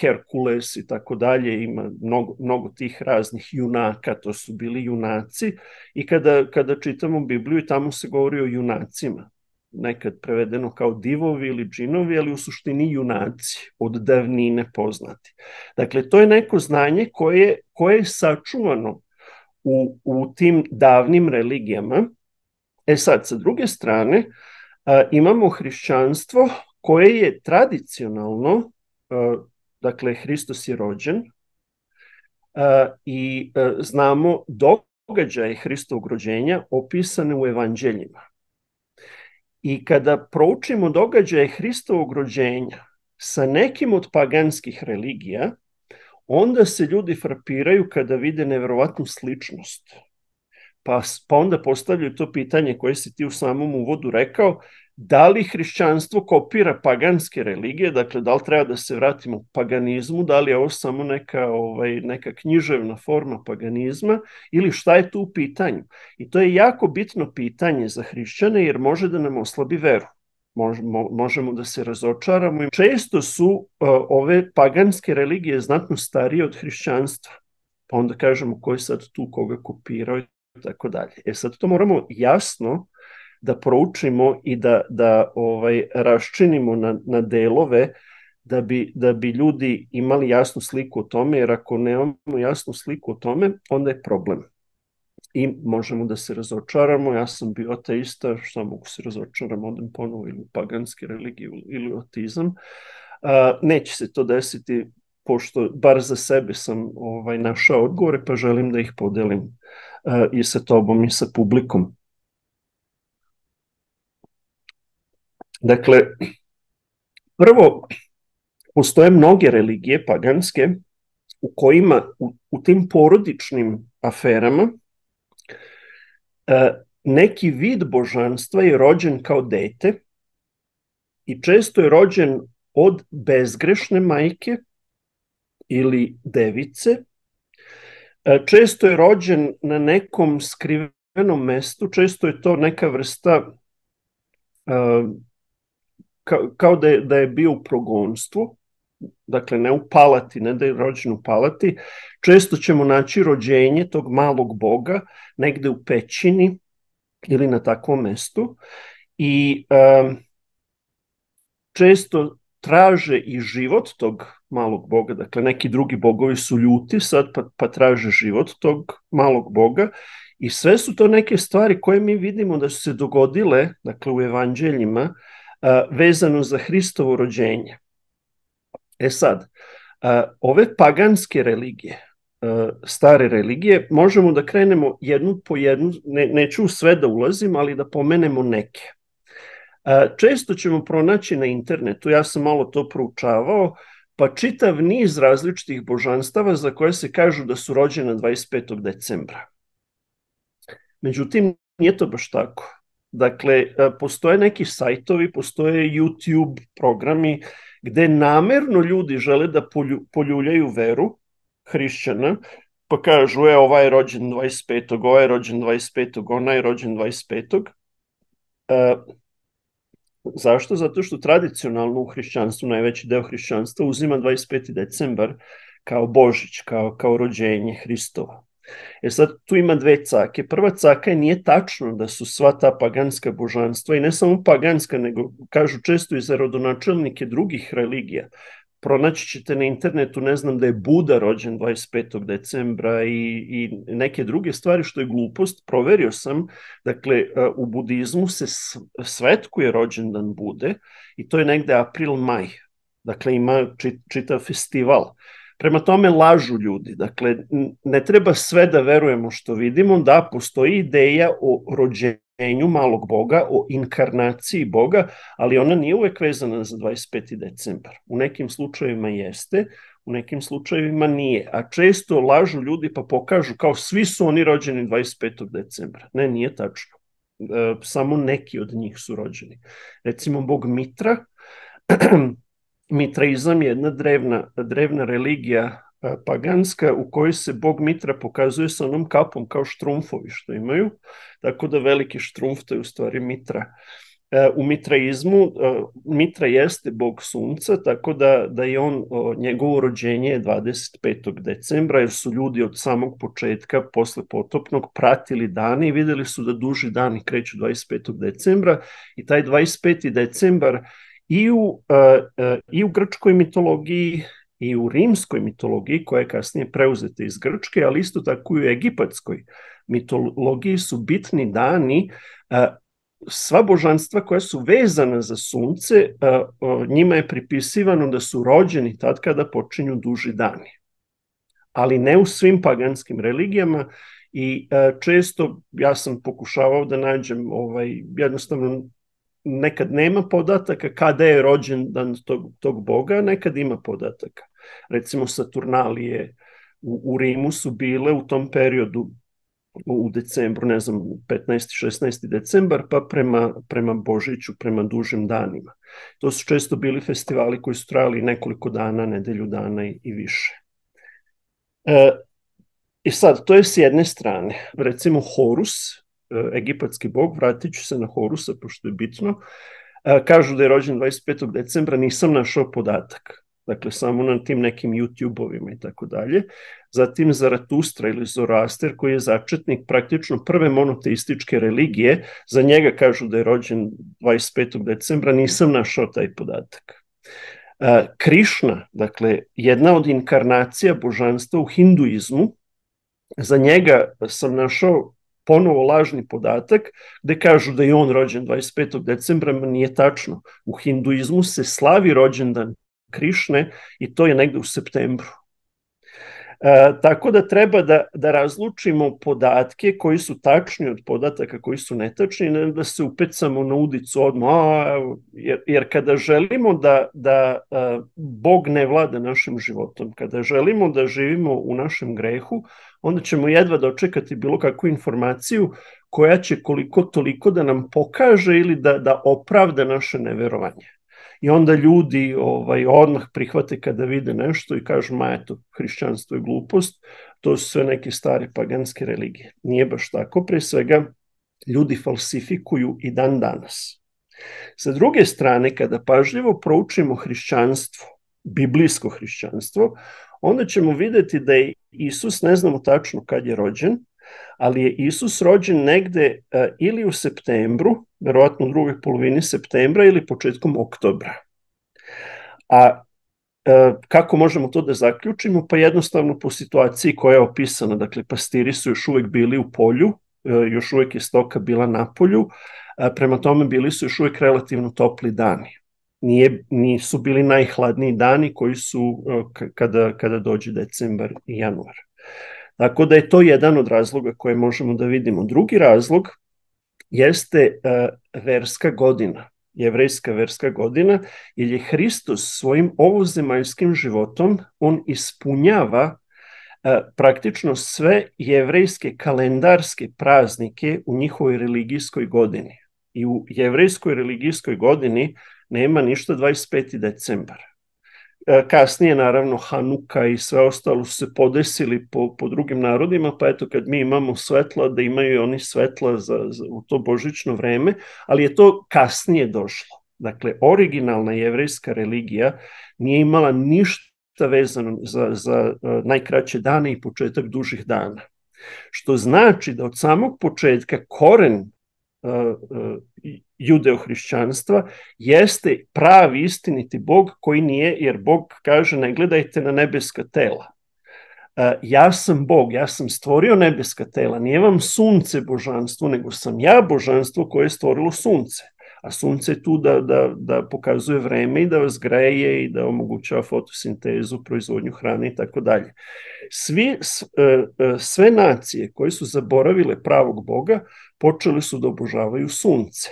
S2: Herkules i tako dalje, ima mnogo tih raznih junaka, to su bili junaci, i kada čitamo Bibliju, tamo se govori o junacima, nekad prevedeno kao divovi ili džinovi, ali u suštini junaci, od davnine poznati. Dakle, to je neko znanje koje je sačuvano u tim davnim religijama. Sad, sa druge strane, imamo hrišćanstvo koje je tradicionalno, dakle, Hristos je rođen i znamo događaje Hristovog rođenja opisane u evanđeljima. I kada proučimo događaje Hristovog rođenja sa nekim od paganskih religija, onda se ljudi frapiraju kada vide neverovatnu sličnost. Pa onda postavljaju to pitanje koje si ti u samom uvodu rekao, da li hrišćanstvo kopira paganske religije, dakle da li treba da se vratimo u paganizmu, da li je ovo samo neka književna forma paganizma ili šta je tu u pitanju. I to je jako bitno pitanje za hrišćane jer može da nam oslabi veru. Možemo da se razočaramo. Često su ove paganske religije znatno starije od hrišćanstva. Pa onda kažemo ko je sad tu koga kopirao i tako dalje. Sad to moramo jasno da proučimo i da raščinimo na delove da bi ljudi imali jasnu sliku o tome, jer ako nemamo jasnu sliku o tome, onda je problem. I možemo da se razočaramo, ja sam bio ateista, šta mogu se razočaram, odem ponovo ili u paganske religije ili u ateizam. Neće se to desiti, pošto bar za sebe sam našao odgovore, pa želim da ih podelim i sa tobom i sa publikom. Dakle, prvo, postoje mnoge religije paganske u kojima u tim porodičnim aferama neki vid božanstva je rođen kao dete i često je rođen od bezgrešne majke ili device. Često je rođen na nekom skrivenom mestu, često je to neka vrsta kao da je bio u progonstvu, dakle ne u palati, ne da je rođen u palati. Često ćemo naći rođenje tog malog boga negde u pećini ili na takvom mestu i često traže i život tog malog boga, dakle neki drugi bogovi su ljuti sad pa traže život tog malog boga i sve su to neke stvari koje mi vidimo da su se dogodile, dakle u evanđeljima, vezano za Hristovo rođenje. Sad, ove paganske religije, stare religije, možemo da krenemo jednu po jednu, neću u sve da ulazim, ali da pomenemo neke. Često ćemo pronaći na internetu, ja sam malo to proučavao, pa čitav niz različitih božanstava za koje se kažu da su rođena 25. decembra. Međutim, nije to baš tako. Dakle, postoje neki sajtovi, postoje YouTube programi gde namerno ljudi žele da poljuljaju veru hrišćana, pa kažu, ovaj je rođen 25. ovaj je rođen 25. onaj je rođen 25. Zašto? Zato što tradicionalno u hrišćanstvu, najveći deo hrišćanstva uzima 25. decembar kao Božić, kao rođenje Hristova. Sad tu ima dve cake. Prva caka je nije tačno da su sva ta paganska božanstva, i ne samo paganska, nego kažu često i za rodonačelnike drugih religija. Pronaći ćete na internetu, ne znam, da je Buda rođen 25. decembra i neke druge stvari, što je glupost. Proverio sam, dakle, u budizmu se svetkuje rođendan Bude i to je negde april-maj. Dakle, ima čitav festival. Prema tome lažu ljudi. Dakle, ne treba sve da verujemo što vidimo, da postoji ideja o rođenju malog boga, o inkarnaciji boga, ali ona nije uvek vezana za 25. decembar. U nekim slučajevima jeste, u nekim slučajevima nije. A često lažu ljudi pa pokažu kao svi su oni rođeni 25. decembra. Ne, nije tačno. Samo neki od njih su rođeni. Recimo, bog Mitra, Mitraizam je jedna drevna religija paganska u kojoj se bog Mitra pokazuje sa onom kapom kao štrumfovi što imaju, tako da veliki štrumf to je u stvari Mitra. U mitraizmu Mitra jeste bog sunca, tako da je njegovo rođenje je 25. decembra, jer su ljudi od samog početka posle potopnog pratili dane i videli su da duži dani kreću 25. decembra i taj 25. decembar i u grčkoj mitologiji i u rimskoj mitologiji, koja je kasnije preuzeta iz Grčke, ali isto tako i u egipatskoj mitologiji su bitni dani. Sva božanstva koja su vezana za sunce, njima je pripisivano da su rođeni tad kada počinju duži dani. Ali ne u svim paganskim religijama i često ja sam pokušavao da nađem jednostavno nekad nema podataka kada je rođendan tog boga, nekad ima podataka. Recimo Saturnalije u Rimu su bile u tom periodu u decembru, ne znam, 15. 16. decembar, pa prema Božiću, prema dužim danima. To su često bili festivali koji su trajali nekoliko dana, nedelju dana i više. I sad, to je s jedne strane. Recimo Horus, egipatski bog, vratit ću se na Horusa, pošto je bitno, kažu da je rođen 25. decembra, nisam našao podatak. Dakle, samo na tim nekim YouTube-ovima i tako dalje. Zatim Zaratustra ili Zoroaster, koji je začetnik praktično prve monoteističke religije, za njega kažu da je rođen 25. decembra, nisam našao taj podatak. Krišna, dakle, jedna od inkarnacija božanstva u hinduizmu, za njega sam našao ponovo lažni podatak gde kažu da je on rođen 25. decembra, nije tačno. U hinduizmu se slavi rođendan Krišne i to je negde u septembru. Tako da treba da razlučimo podatke koji su tačni od podataka koji su netačni, ne da se upecamo na udicu odmah, jer kada želimo da Bog ne vlada našim životom, kada želimo da živimo u našem grehu, onda ćemo jedva dočekati bilo kakvu informaciju koja će koliko toliko da nam pokaže ili da opravda naše neverovanje. I onda ljudi odmah prihvate kada vide nešto i kažu, ma eto, hrišćanstvo je glupost, to su sve neke stare paganske religije. Nije baš tako, pre svega ljudi falsifikuju i dan danas. Sa druge strane, kada pažljivo proučimo hrišćanstvo, biblijsko hrišćanstvo, onda ćemo videti da je Isus, ne znamo tačno kad je rođen, ali je Isus rođen negde ili u septembru, verovatno u drugoj polovini septembra ili početkom oktobra. A kako možemo to da zaključimo? Pa jednostavno po situaciji koja je opisana. Dakle, pastiri su još uvek bili u polju, još uvek je stoka bila na polju, prema tome bili su još uvek relativno topli dani. Nisu bili najhladniji dani koji su kada dođe decembar i januar. Tako da je to jedan od razloga koje možemo da vidimo. Drugi razlog jeste verska godina, jevrejska verska godina, jer je Hristos svojim ovozemaljskim životom, on ispunjava praktično sve jevrejske kalendarske praznike u njihovoj religijskoj godini. I u jevrejskoj religijskoj godini nema ništa 25. decembar. Kasnije, naravno, Hanuka i sve ostalo su se podesili po drugim narodima, pa eto kad mi imamo svetla, da imaju oni svetla u to božićno vreme, ali je to kasnije došlo. Dakle, originalna jevrejska religija nije imala ništa vezano za najkraće dane i početak dužih dana. Što znači da od samog početka koren judeo-hrišćanstva jeste pravi istiniti Bog koji nije, jer Bog kaže ne gledajte na nebeska tela. Ja sam Bog, ja sam stvorio nebeska tela, nije vam sunce božanstvo, nego sam ja božanstvo koje je stvorilo sunce. A sunce je tu da pokazuje vreme i da vas greje i da omogućava fotosintezu, proizvodnju hrane i tako dalje. Sve nacije koje su zaboravile pravog Boga počele su da obožavaju sunce.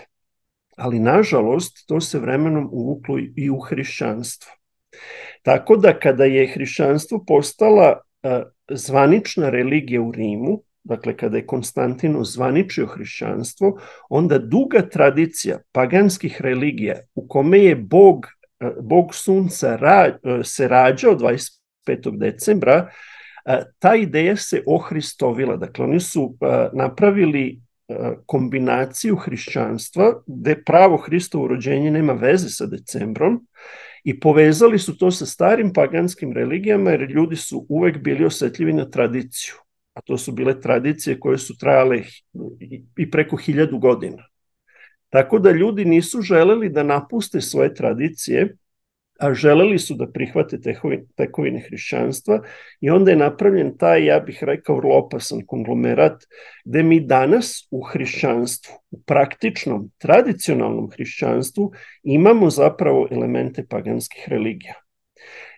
S2: Ali nažalost to se vremenom uvuklo i u hrišćanstvo. Tako da kada je hrišćanstvo postala zvanična religija u Rimu, dakle kada je Konstantin ozvaničio hrišćanstvo, onda duga tradicija paganskih religija u kome je Bog sunca se rađao 25. decembra, ta ideja se ohristovila. Dakle, oni su napravili kombinaciju hrišćanstva gde pravo Hristovo rođenje nema veze sa decembrom i povezali su to sa starim paganskim religijama jer ljudi su uvek bili osetljivi na tradiciju, a to su bile tradicije koje su trajale i preko 1000 godina. Tako da ljudi nisu želeli da napuste svoje tradicije, a želeli su da prihvate tekovine hrišćanstva i onda je napravljen taj, ja bih rekao, vrlo opasan konglomerat gde mi danas u hrišćanstvu, u praktičnom, tradicionalnom hrišćanstvu imamo zapravo elemente paganskih religija.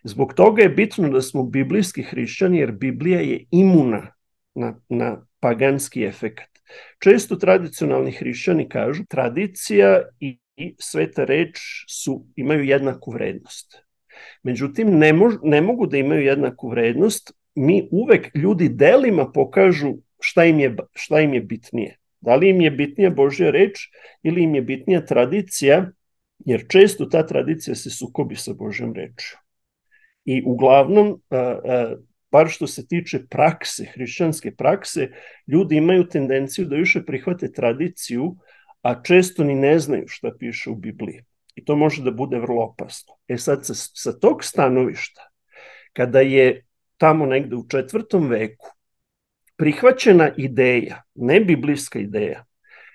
S2: Zbog toga je bitno da smo biblijski hrišćani jer Biblija je imuna na paganski efekat. Često tradicionalni hrišćani kažu tradicija i sveta reč imaju jednaku vrednost. Međutim, ne mogu da imaju jednaku vrednost. Mi uvek ljudi delima pokažu šta im je bitnije. Da li im je bitnija Božja reč ili im je bitnija tradicija, jer često ta tradicija se sukobi sa Božjom rečju. I uglavnom, bar što se tiče prakse, hrišćanske prakse, ljudi imaju tendenciju da više prihvate tradiciju, a često ni ne znaju šta piše u Bibliji. I to može da bude vrlo opasno. Sad, sa tog stanovišta, kada je tamo negde u 4. veku prihvaćena ideja, ne biblijska ideja,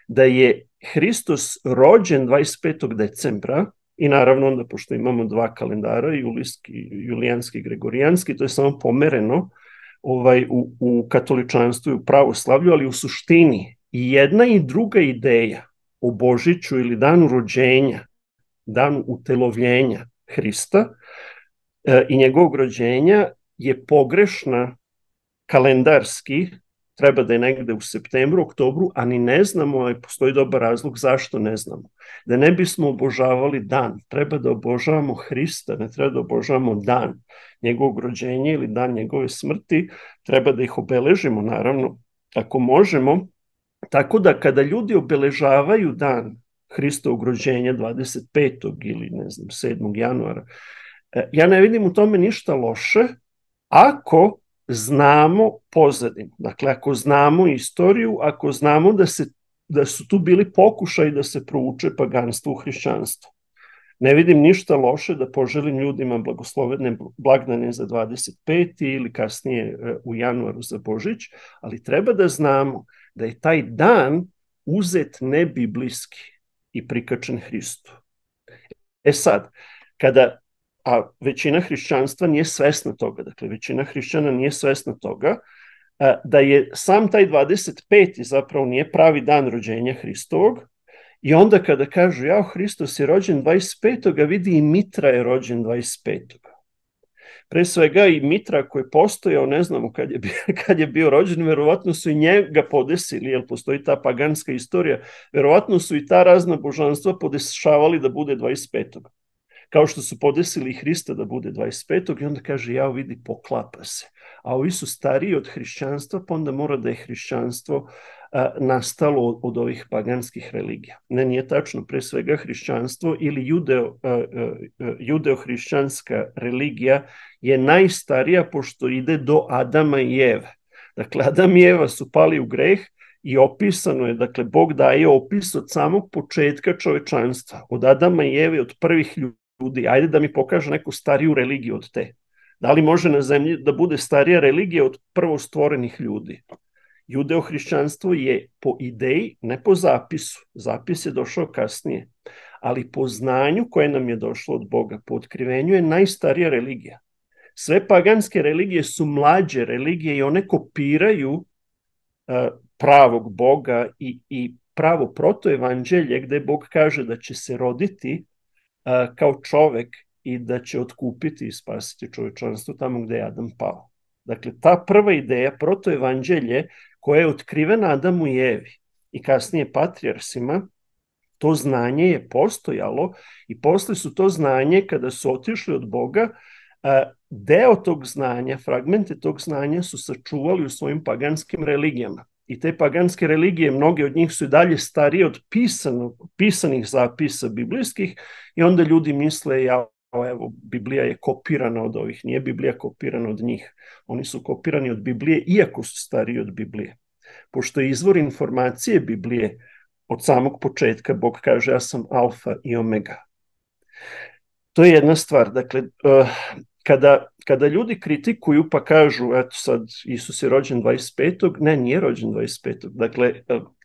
S2: da je Hristos rođen 25. decembra, i naravno onda, pošto imamo 2 kalendara, julijanski i gregorijanski, to je samo pomereno u katoličanstvu i u pravoslavlju, ali u suštini i jedna i druga ideja o Božiću ili danu rođenja, danu utelovljenja Hrista i njegovog rođenja je pogrešna kalendarski treba da je negde u septembru, oktobru, a ni ne znamo, a postoji dobar razlog zašto ne znamo. Da ne bismo obožavali dan, treba da obožavamo Hrista, ne treba da obožavamo dan njegovog rođenja ili dan njegove smrti, treba da ih obeležimo, naravno, ako možemo, tako da kada ljudi obeležavaju dan Hristovog rođenja 25. ili ne znam 7. januara, ja ne vidim u tome ništa loše ako znamo pozadinu. Dakle, ako znamo istoriju, ako znamo da su tu bili pokušaji da se prouče paganstvo u hrišćanstvo. Ne vidim ništa loše da poželim ljudima blagoslovene blagdane za 25. ili kasnije u januaru za Božić, ali treba da znamo da je taj dan uzet nebiblijski i prikačen Hristu. Sad, a većina hrišćanstva nije svesna toga, dakle većina hrišćana nije svesna toga, da je sam taj 25. zapravo nije pravi dan rođenja Hristovog, i onda kada kažu, jao, Hristos je rođen 25. vidi i Mitra je rođen 25. Pre svega i Mitra koji je postojao, ne znamo kad je bio rođen, verovatno su i njega podesili, jer postoji ta paganska istorija, verovatno su i ta razna božanstva podešavali da bude 25. Kao što su podesili Hrista da bude 25. i onda kaže, jao, vidi, poklapa se. A ovi su stariji od hrišćanstva, pa onda mora da je hrišćanstvo nastalo od ovih paganskih religija. Ne, nije tačno. Pre svega hrišćanstvo ili judeo-hrišćanska religija je najstarija pošto ide do Adama i Eve. Dakle, Adam i Eva su pali u greh i opisano je, dakle, Bog daje opis od samog početka čovečanstva, od Adama i Eve, od prvih ljudi. Ajde da mi pokaže neku stariju religiju od te. Da li može na zemlji da bude starija religija od prvo stvorenih ljudi? Judeo-hrišćanstvo je po ideji, ne po zapisu. Zapis je došao kasnije. Ali po znanju koje nam je došlo od Boga, po otkrivenju je najstarija religija. Sve paganske religije su mlađe religije i one kopiraju pravog Boga i pravo protoevanđelje gde Bog kaže da će se roditi kao čovek i da će otkupiti i spasiti čovečanstvo tamo gde je Adam pao. Dakle, ta prva ideja, protoevanđelje, koja je otkrivena Adamu i Evi i kasnije patrijarsima, to znanje je postojalo i posle su to znanje, kada su otišli od Boga, deo tog znanja, fragmente tog znanja su sačuvali u svojim paganskim religijama. I te paganske religije, mnoge od njih su i dalje starije od pisanih zapisa biblijskih i onda ljudi misle, evo, Biblija je kopirana od ovih. Nije Biblija kopirana od njih. Oni su kopirani od Biblije, iako su stariji od Biblije. Pošto je izvor informacije Biblije od samog početka, Bog kaže, ja sam alfa i omega. To je jedna stvar. Dakle, kada ljudi kritikuju pa kažu, eto sad, Isus je rođen 25. Ne, nije rođen 25. Dakle,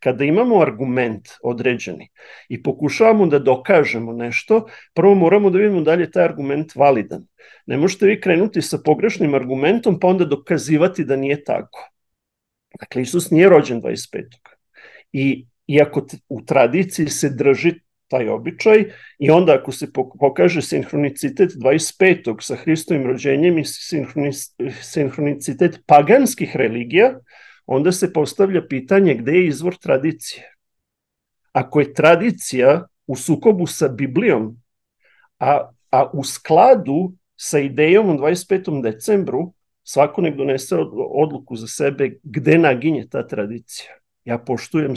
S2: kada imamo argument određeni i pokušavamo da dokažemo nešto, prvo moramo da vidimo da li je taj argument validan. Ne možete vi krenuti sa pogrešnim argumentom pa onda dokazivati da nije tako. Dakle, Isus nije rođen 25. I iako u tradiciji se drži taj običaj i onda ako se pokaže sinhronicitet 25. sa Hristovim rođenjem i sinhronicitet paganskih religija, onda se postavlja pitanje gde je izvor tradicije. Ako je tradicija u sukobu sa Biblijom, a u skladu sa idejom o 25. decembru, svako nek donese odluku za sebe gde naginje ta tradicija. Ja poštujem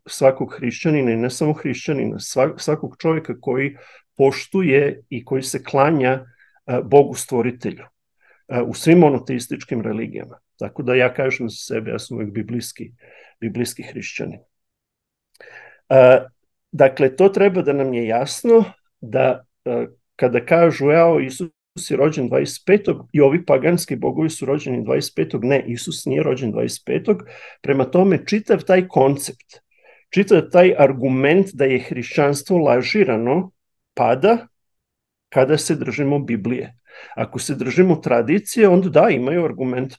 S2: svakog hrišćanina i ne samo hrišćanina, svakog čovjeka koji poštuje i koji se klanja Bogu stvoritelju u svim monoteističkim religijama. Tako da ja kažem za sebe, ja sam uvijek biblijski hrišćanin. Dakle, to treba da nam je jasno da kada kažu, evo, Isus je rođen 25. i ovi paganski bogovi su rođeni 25. Ne, Isus nije rođen 25. Prema tome, čitav taj koncept, čitav taj argument da je hrišćanstvo lažirano pada kada se držimo Biblije. Ako se držimo tradicije, onda da, imaju argument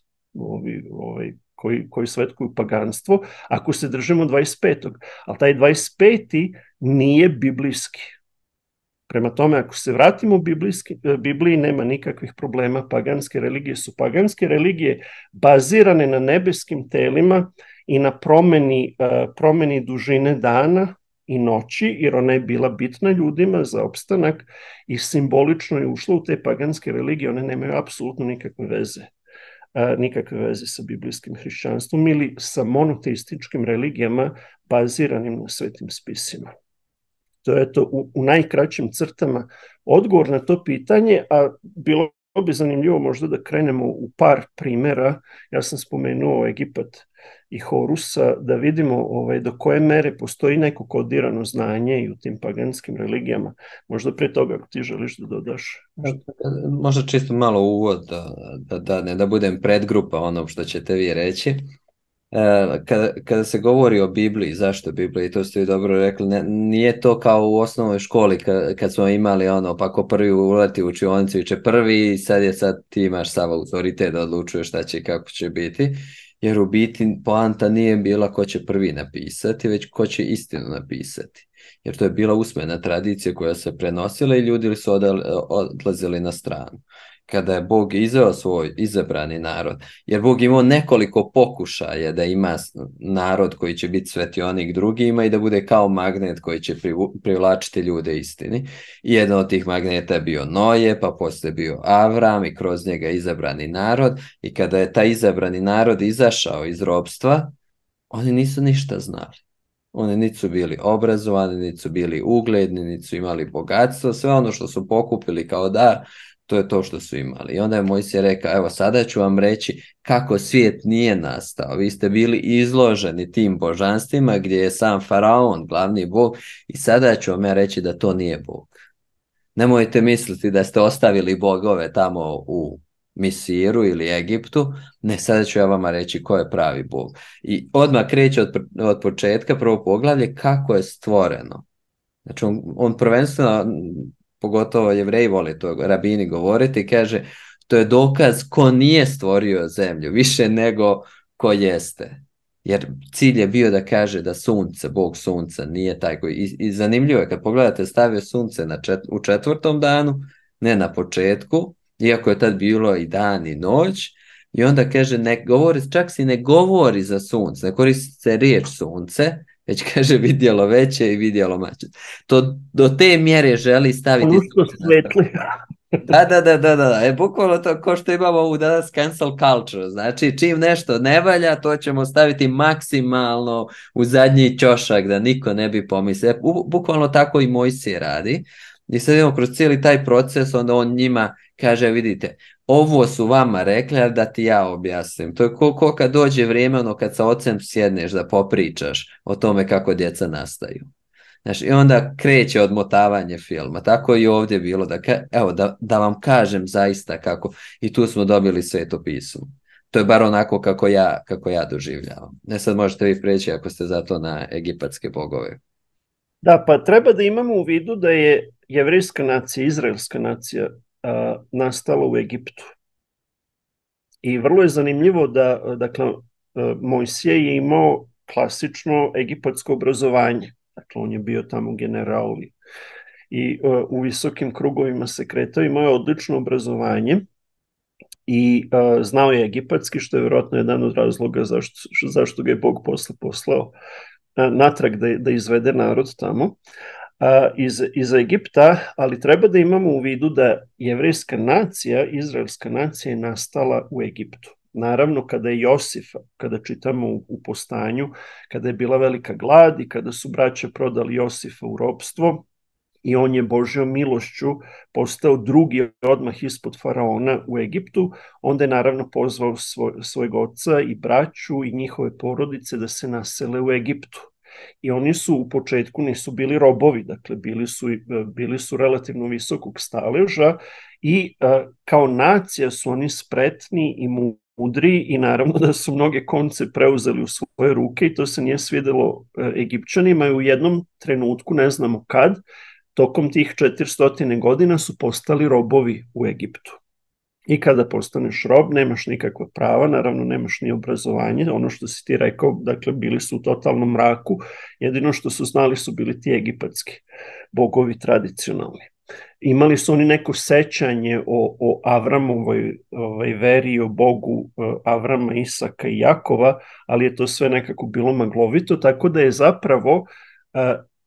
S2: koji svetkuju paganstvo, ako se držimo 25. Ali taj 25. nije biblijski. Prema tome, ako se vratimo u Bibliji, nema nikakvih problema. Paganske religije su paganske religije bazirane na nebeskim telima i na promeni dužine dana i noći, jer ona je bila bitna ljudima za opstanak i simbolično je ušla u te paganske religije. One nemaju apsolutno nikakve veze sa biblijskim hrišćanstvom ili sa monoteističkim religijama baziranim na svetim spisima. To je to u najkraćim crtama odgovor na to pitanje, a bilo bi zanimljivo možda da krenemo u par primera. Ja sam spomenuo Egipat i Horusa, da vidimo do koje mere postoji neko kodirano znanje i u tim paganskim religijama. Možda pre toga, ako ti želiš da dodaš.
S1: Možda čisto malo uvod, da budem predgrupa onom što ćete vi reći. Kada se govori o Bibliji, zašto Bibliji, to ste vi dobro rekli, nije to kao u osnovnoj školi kad smo imali pa ko prvi uleti u učionicu će prvi i sad ti imaš sav autoritet da odlučuješ šta će i kako će biti, jer u biti poanta nije bila ko će prvi napisati, već ko će istinu napisati, jer to je bila usmena tradicija koja se prenosila i ljudi su odlazili na stranu. Kada je Bog izveo svoj izabrani narod, jer Bog imao nekoliko pokušaja da ima narod koji će biti svetionik drugima i da bude kao magnet koji će privlačiti ljude istini. I jedan od tih magneta je bio Noje, pa poslije bio Avram i kroz njega izabrani narod. I kada je taj izabrani narod izašao iz ropstva, oni nisu ništa znali. Oni niti su bili obrazovani, niti su bili ugledni, niti su imali bogatstvo. Sve ono što su pokupili kao dar, to je to što su imali. I onda je Mojsije rekao, evo sada ću vam reći kako svijet nije nastao. Vi ste bili izloženi tim božanstvima gdje je sam faraon glavni bog i sada ću vam ja reći da to nije Bog. Nemojte misliti da ste ostavili bogove tamo u Misiru ili Egiptu. Ne, sada ću ja vama reći ko je pravi Bog. I odmah kreće od početka, prvo poglavlje, kako je stvoreno. Znači on prvenstveno, pogotovo Jevreji vole to rabini govoriti, kaže to je dokaz ko nije stvorio zemlju više nego ko jeste, jer cilj je bio da kaže da sunce, Bog sunca nije taj koji, i zanimljivo je kad pogledate stavio sunce u 4. danu, ne na početku, iako je tad bilo i dan i noć, i onda kaže čak si ne govori za sunce, ne koristi se riječ sunce, već kaže vidjelo veće i vidjelo mače. To do te mjere želi staviti
S2: svetli.
S1: Da. Bukvalno to ko što imamo ovu danas cancel culture. Znači čim nešto ne valja, to ćemo staviti maksimalno u zadnji ćošak da niko ne bi pomislio. Bukvalno tako i Mojsije radi. I sad idemo kroz cijeli taj proces, onda on njima kaže, vidite, ovo su vama rekli, ali da ti ja objasnim. To je ko kad dođe vrijeme, kad sa ocem sjedneš da popričaš o tome kako djeca nastaju. Znači, i onda kreće odmotavanje filma. Tako i ovdje bilo, da vam kažem zaista kako. I tu smo dobili Sveto pismo. To je bar onako kako ja doživljavam. Ne, sad možete vi preći ako ste zato na egipatske bogove.
S2: Da, pa treba da imamo u vidu da je jevrejska nacija, izraelska nacija nastala u Egiptu. I vrlo je zanimljivo da, dakle, Mojsije je imao klasično egipatsko obrazovanje. Dakle, on je bio tamo general i u visokim krugovima se kretao, imao je odlično obrazovanje i znao je egipatski, što je vjerojatno jedan od razloga zašto ga je Bog posle poslao natrag da izvede narod tamo iz Egipta, ali treba da imamo u vidu da jevrejska nacija, izraelska nacija je nastala u Egiptu. Naravno, kada je Josif, kada čitamo u Postanju, kada je bila velika glad i kada su braća prodali Josifa u ropstvo i on je Božjom milošću postao drugi odmah ispod faraona u Egiptu, onda je naravno pozvao svojeg oca i braću i njihove porodice da se nasele u Egiptu. I oni su u početku nisu bili robovi, dakle bili su relativno visokog staleža i kao nacija su oni spretni i mudri i naravno da su mnoge konce preuzeli u svoje ruke i to se nije svidelo Egipćanima i u jednom trenutku, ne znamo kad, tokom tih 400 godina su postali robovi u Egiptu. I kada postaneš rob, nemaš nikakva prava, naravno nemaš ni obrazovanje, ono što si ti rekao, dakle bili su u totalnom mraku, jedino što su znali su bili ti egipatski bogovi tradicionalni. Imali su oni neko sećanje o Avramovoj veri, o Bogu Avrama, Isaka i Jakova, ali je to sve nekako bilo maglovito, tako da je zapravo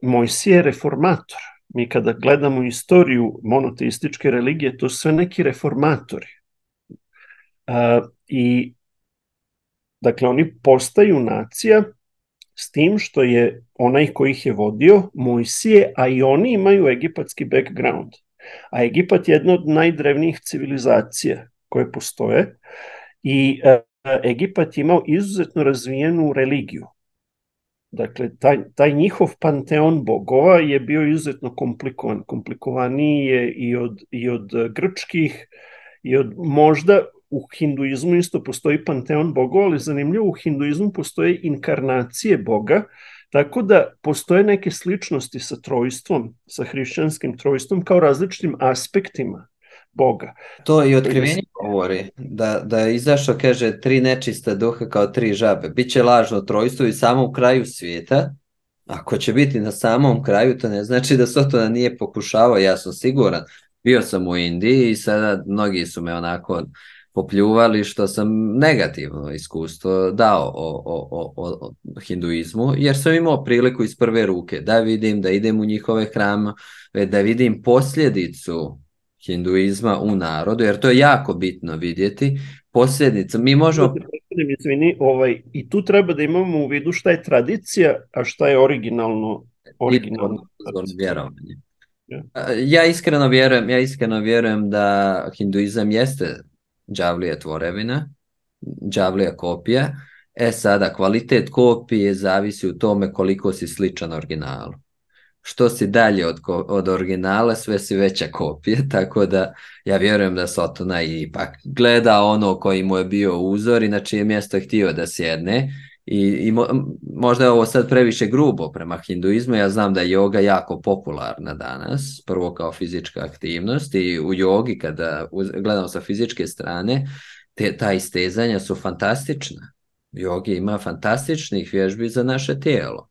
S2: Mojsije reformator. Mi kada gledamo istoriju monoteističke religije, to su sve neki reformatori. I dakle, oni postaju nacija s tim što je onaj koji ih je vodio Mojsije, a i oni imaju egipatski background. A Egipat je jedna od najdrevnijih civilizacija koje postoje i Egipat je imao izuzetno razvijenu religiju. Dakle, taj njihov panteon bogova je bio izuzetno komplikovan. Komplikovaniji je i od grčkih, i od možda u hinduizmu isto postoji panteon bogova, ali zanimljivo, u hinduizmu postoje inkarnacije Boga, tako da postoje neke sličnosti sa trojstvom, sa hrišćanskim trojstvom, kao različitim aspektima Boga.
S1: To i otkrivenje govori, da je izašao, kaže, 3 nečista duha kao 3 žabe. Biće lažno trojstvo i samo u kraju svijeta. Ako će biti na samom kraju, to ne znači da Sotona nije pokušavao, ja sam siguran. Bio sam u Indiji i sada mnogi su me onako popljuvali što sam negativno iskustvo dao o hinduizmu, jer sam imao priliku iz prve ruke da vidim, da idem u njihove hrame, da vidim posljedicu hinduizma u narodu, jer to je jako bitno vidjeti. Posljedica, mi možemo...
S2: Izvini, i tu treba da imamo u vidu šta je tradicija, a šta je originalno
S1: vjerovanje. Ja iskreno vjerujem da hinduizam jeste đavlija tvorevina, đavlija kopija. Sada, kvalitet kopije zavisi u tome koliko si sličan originalu. Što si dalje od originala, sve si veća kopija, tako da ja vjerujem da Sotona ipak gleda ono koji mu je bio uzor i na čije mjesto je htio da sjedne. I možda je ovo sad previše grubo prema hinduizmu, ja znam da je joga jako popularna danas, prvo kao fizička aktivnost i u jogi kada gledamo sa fizičke strane, ta istezanja su fantastična. Jogi ima fantastičnih vježbi za naše tijelo.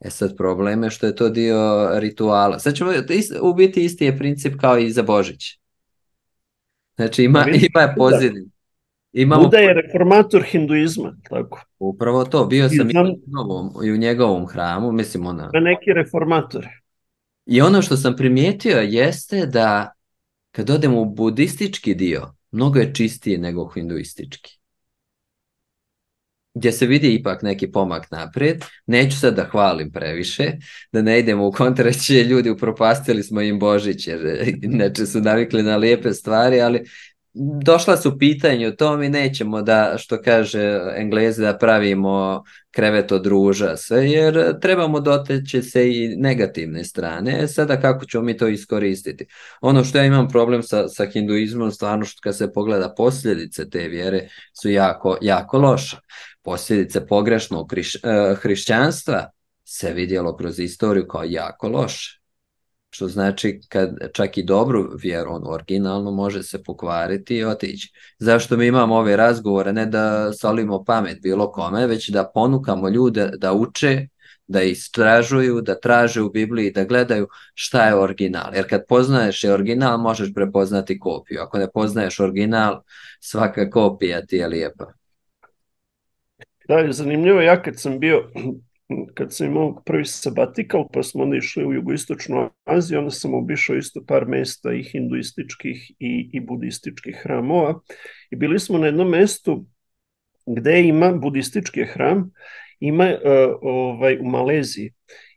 S1: Sad problem je što je to dio rituala. Sad ćemo u biti isti je princip kao i za Božić. Znači ima pozivni.
S2: Buda je reformator hinduizma, tako.
S1: Upravo to, bio sam i u njegovom hramu, mislim ona.
S2: Neki reformatori.
S1: I ono što sam primijetio jeste da kad odemo u budistički dio, mnogo je čistije nego hinduistički. Gdje se vidi ipak neki pomak naprijed. Neću sad da hvalim previše, da ne idemo u kontraće, ljudi upropastili smo im Božić, jer inače su navikli na lijepe stvari, ali došla su pitanje o tom i nećemo da, što kaže Englezi, da pravimo krevet od ruža sve, jer trebamo doteći se i negativne strane. Sada kako ćemo mi to iskoristiti? Ono što ja imam problem sa hinduizmom, stvarno što kad se pogleda posljedice te vjere su jako, jako loše. Posljedice pogrešnog hrišćanstva se vidjelo kroz istoriju kao jako loše. Što znači kad čak i dobru vjeru, originalno, može se pokvariti i otići. Zašto mi imamo ove razgovore? Ne da solimo pamet bilo kome, već da ponukamo ljude da uče, da istražuju, da traže u Bibliji, da gledaju šta je original. Jer kad poznaješ je original, možeš prepoznati kopiju. Ako ne poznaješ original, svaka kopija ti je lijepa.
S2: Da, zanimljivo, ja kad sam imao prvi sabatikal, pa smo onda išli u jugoistočnu Aziju, onda sam obišao isto par mesta i hinduističkih i budističkih hramova. I bili smo na jednom mestu gde ima budistički hram, ima u Maleziji,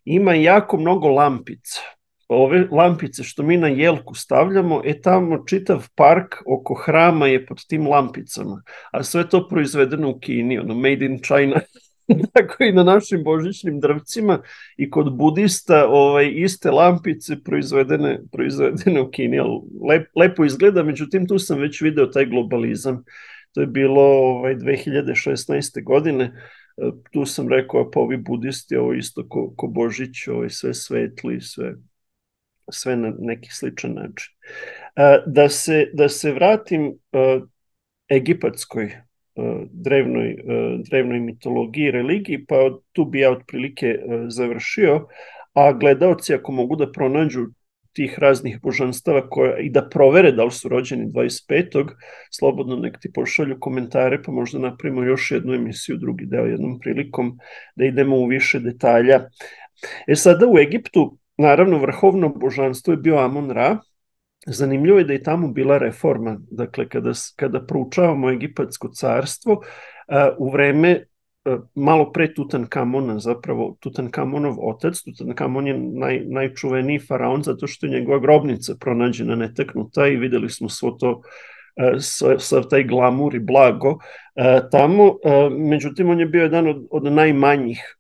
S2: ima jako mnogo lampica. Ove lampice što mi na jelku stavljamo, tamo čitav park oko hrama je pod tim lampicama, a sve to proizvedeno u Kini, made in China. Tako i na našim božićnim drvcima i kod budista iste lampice proizvedene u Kini. Lepo izgleda, međutim tu sam već video taj globalizam. To je bilo 2016. godine. Tu sam rekao, pa ovi budisti, ovo isto ko Božić, sve svetli, sve na neki sličan način. Da se vratim egipatskoj drevnoj mitologiji i religiji, pa tu bi ja otprilike završio, a gledaoci ako mogu da pronađu tih raznih božanstava i da provere da li su rođeni 25. Slobodno nek ti pošalju komentare, pa možda napravimo još jednu emisiju, drugi deo jednom prilikom, da idemo u više detalja. Sada u Egiptu, naravno, vrhovno božanstvo je bio Amon-Ra. Zanimljivo je da je tamo bila reforma. Dakle, kada proučavamo Egipatsko carstvo, u vreme malo pre Tutankamona, zapravo Tutankamonov otac, Tutankamon je najčuveniji faraon zato što je njegova grobnica pronađena netaknuta i videli smo svo to, sav taj glamur i blago tamo. Međutim, on je bio jedan od najmanjih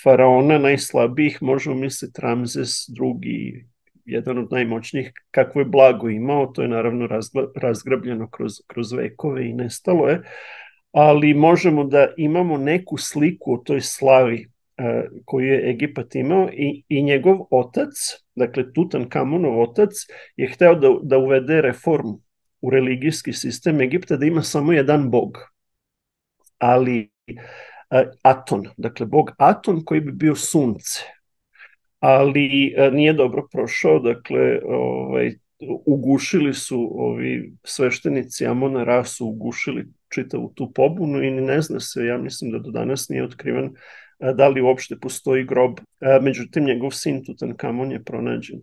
S2: faraona, najslabijih, možemo misliti Ramzes II, jedan od najmoćnijih. Kakvo je blago imao, to je naravno razgrabljeno kroz vekove i nestalo je, ali možemo da imamo neku sliku o toj slavi koju je Egipat imao i njegov otac, dakle Tutankamonov otac, je hteo da uvede reformu u religijski sistem Egipta, da ima samo jedan bog, ali Aton, dakle bog Aton koji bi bio sunce, ali nije dobro prošao, dakle ugušili su ovi sveštenici Amona-Ra su ugušili čitavu tu pobunu i ne zna se, ja mislim da do danas nije otkriven da li uopšte postoji grob, međutim njegov sin Tutankamon je pronađen.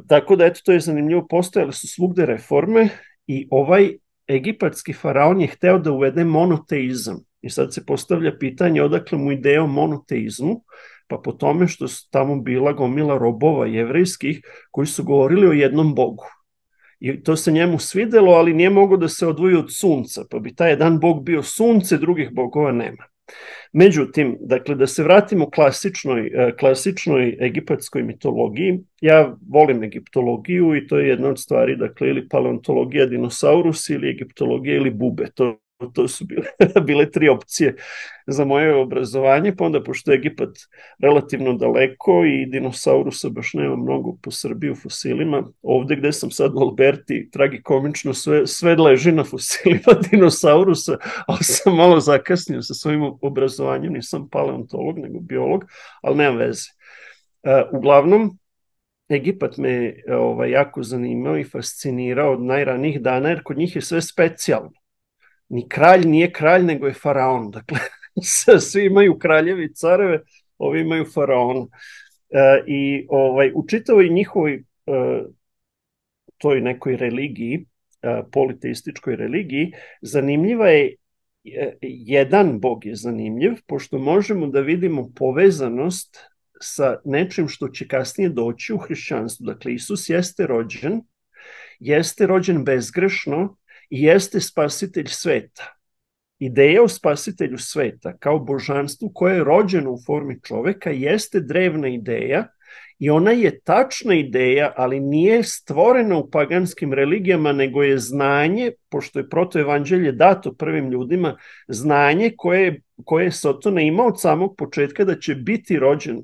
S2: Tako da eto, to je zanimljivo, postojale su svugde reforme i ovaj egipatski faraon je hteo da uvede monoteizam i sad se postavlja pitanje odakle mu ideja o monoteizmu, pa po tome što su tamo bila gomila robova jevrejskih koji su govorili o jednom bogu. I to se njemu svidelo, ali nije mogo da se odvoji od sunca, pa bi taj jedan bog bio sunce, drugih bogova nema. Međutim, dakle, da se vratimo klasičnoj egipatskoj mitologiji, ja volim egiptologiju i to je jedna od stvari, dakle, ili paleontologija dinosaurusi ili egiptologija ili bube, to su bile tri opcije za moje obrazovanje, pa onda pošto je Egipat relativno daleko i dinosaurusa baš nema mnogo po Srbiji u fosilima, ovde gde sam sad u Alberti, tragikomično, sve leži na fosilima dinosaurusa, ali sam malo zakasnio sa svojim obrazovanjem, nisam paleontolog nego biolog, ali nema veze. Uglavnom, Egipat me jako zanimao i fascinirao od najranijih dana, jer kod njih je sve specijalno. Ni kralj nije kralj, nego je faraon. Dakle, svi imaju kraljevi, careve, ovi imaju faraona. I u čitavoj njihovoj toj nekoj religiji, politeističkoj religiji, zanimljiva je, jedan bog je zanimljiv, pošto možemo da vidimo povezanost sa nečim što će kasnije doći u hrišćanstvu. Dakle, Isus jeste rođen bezgrešno, i jeste spasitelj sveta. Ideja o spasitelju sveta kao božanstvu koje je rođeno u formi čoveka jeste drevna ideja i ona je tačna ideja, ali nije stvorena u paganskim religijama, nego je znanje, pošto je protoevanđelje dato prvim ljudima, znanje koje je Sotona imao od samog početka da će biti rođen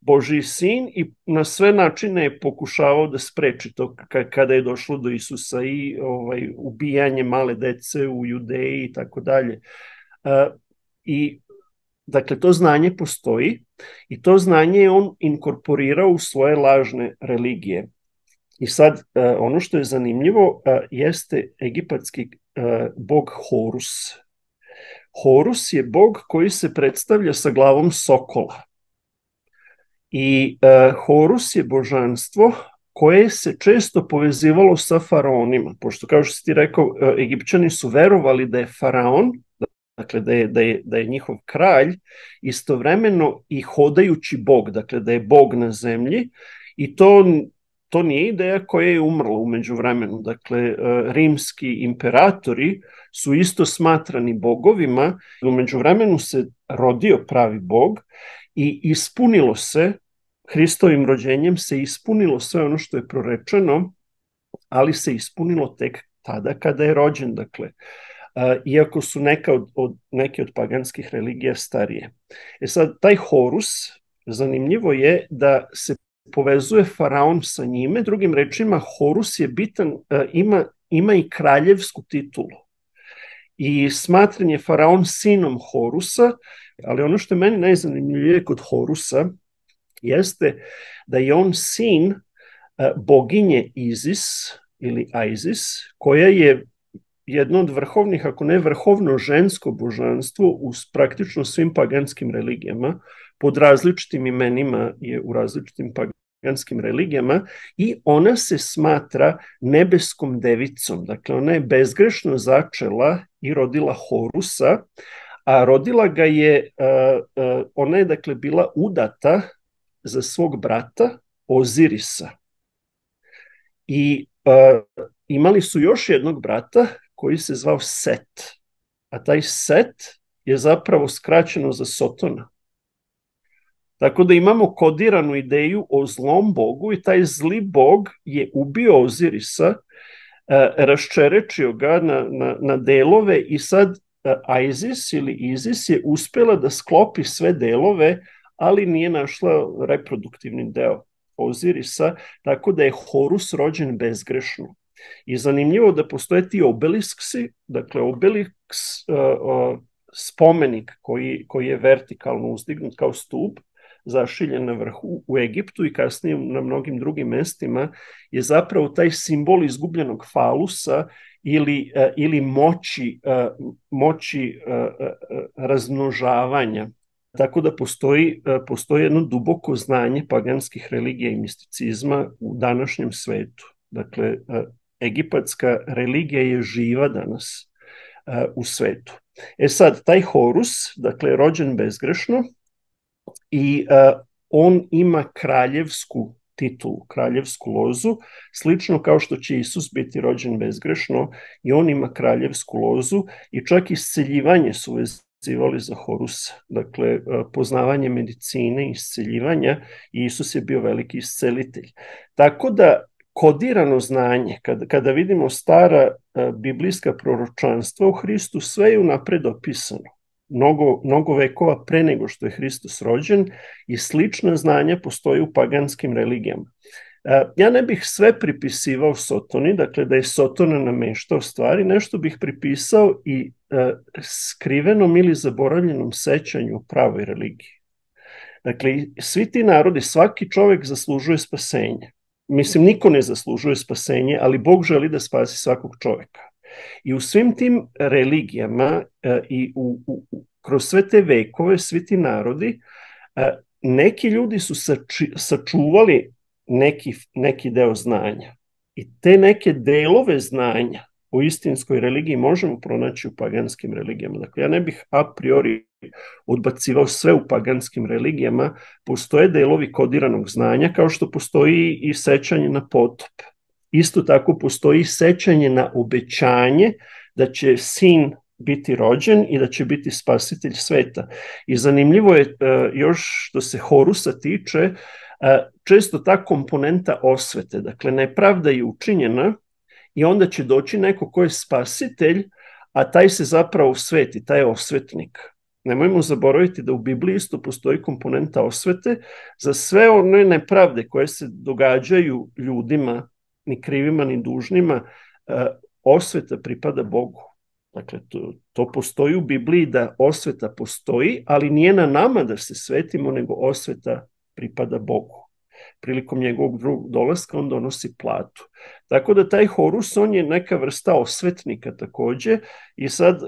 S2: Božji sin i na sve načine je pokušavao da spreči to kada je došlo do Isusa i ubijanje male dece u Judeji i tako dalje. I dakle, to znanje postoji i to znanje je on inkorporirao u svoje lažne religije. I sad, ono što je zanimljivo jeste egipatski bog Horus. Horus je bog koji se predstavlja sa glavom sokola. I Horus je božanstvo koje se često povezivalo sa faraonima, pošto kao što si ti rekao, Egipćani su verovali da je faraon, dakle da je njihov kralj, istovremeno i hodajući bog, dakle da je bog na zemlji, i to nije ideja koja je umrla u međuvremenu. Dakle, rimski imperatori su isto smatrani bogovima, u međuvremenu se rodio pravi bog i ispunilo se, Hristovim rođenjem se ispunilo sve ono što je prorečeno, ali se ispunilo tek tada kada je rođen, dakle, iako su neke od paganskih religija starije. Sad, taj Horus, zanimljivo je da se povezuje faraon sa njime, drugim rečima, Horus je bitan, ima i kraljevsku titulu. I smatran je faraon sinom Horusa, ali ono što je meni najzanimljivije kod Horusa jeste da je on sin boginje Izis ili Isis, koja je jedno od vrhovnih, ako ne vrhovno žensko božanstvo u praktično svim paganskim religijama, pod različitim imenima je u različitim paganskim religijama, i ona se smatra nebeskom devicom. Dakle, ona je bezgrešno začela i rodila Horusa, a rodila ga je, ona je dakle bila udata za svog brata Ozirisa. I imali su još jednog brata koji se zvao Set, a taj Set je zapravo skraćeno za Sotona. Tako da imamo kodiranu ideju o zlom bogu i taj zli bog je ubio Ozirisa, raščerečio ga na delove i sad Isis ili Izis je uspela da sklopi sve delove, ali nije našla reproduktivni deo Ozirisa, tako da je Horus rođen bezgrešno. I zanimljivo da postoje ti obelisksi, dakle obeliks, spomenik koji je vertikalno uzdignut kao stup, zašiljen na vrhu u Egiptu i kasnije na mnogim drugim mestima, je zapravo taj simbol izgubljenog falusa ili moći razmnožavanja. Tako da postoji jedno duboko znanje paganskih religija i misticizma u današnjem svetu. Dakle, egipatska religija je živa danas u svetu. Sad, taj Horus, dakle, rođen bezgrešno, i on ima kraljevsku titulu, kraljevsku lozu, slično kao što će Isus biti rođen bezgrešno, i on ima kraljevsku lozu, i čak isceljivanje su vezivali za Horusa. Dakle, poznavanje medicine, isceljivanja, i Isus je bio veliki iscelitelj. Tako da kodirano znanje, kada vidimo stara biblijska proročanstva o Hristu, sve je unapred opisano. Mnogo vekova pre nego što je Hristos rođen, i slična znanja postoje u paganskim religijama. Ja ne bih sve pripisivao Sotoni, dakle da je Sotona nameštao stvari, nešto bih pripisao i skrivenom ili zaboravljenom sećanju u pravoj religiji. Dakle, svi ti narodi, svaki čovek zaslužuje spasenje. Mislim, niko ne zaslužuje spasenje, ali Bog želi da spasi svakog čoveka. I u svim tim religijama i kroz sve te vekove, svi ti narodi, neki ljudi su sačuvali neki deo znanja. I te neke delove znanja o istinskoj religiji možemo pronaći u paganskim religijama. Dakle, ja ne bih a priori odbacivao sve u paganskim religijama. Postoje delovi kodiranog znanja, kao što postoji i sećanje na potop. Isto tako postoji sećanje na obećanje da će sin biti rođen i da će biti spasitelj sveta. I zanimljivo je još što se Horusa tiče, često ta komponenta osvete, dakle nepravda je učinjena i onda će doći neko ko je spasitelj, a taj se zapravo sveti, taj je osvetnik. Nemojmo zaboraviti da u Bibliji isto postoji komponenta osvete za sve one nepravde koje se događaju ljudima, ni krivima, ni dužnima, osveta pripada Bogu. Dakle, to postoji u Bibliji, da osveta postoji, ali nije na nama da se svetimo, nego osveta pripada Bogu. Prilikom njegovog drugog dolaska on donosi platu. Tako da taj Horus, on je neka vrsta osvetnika takođe, i sad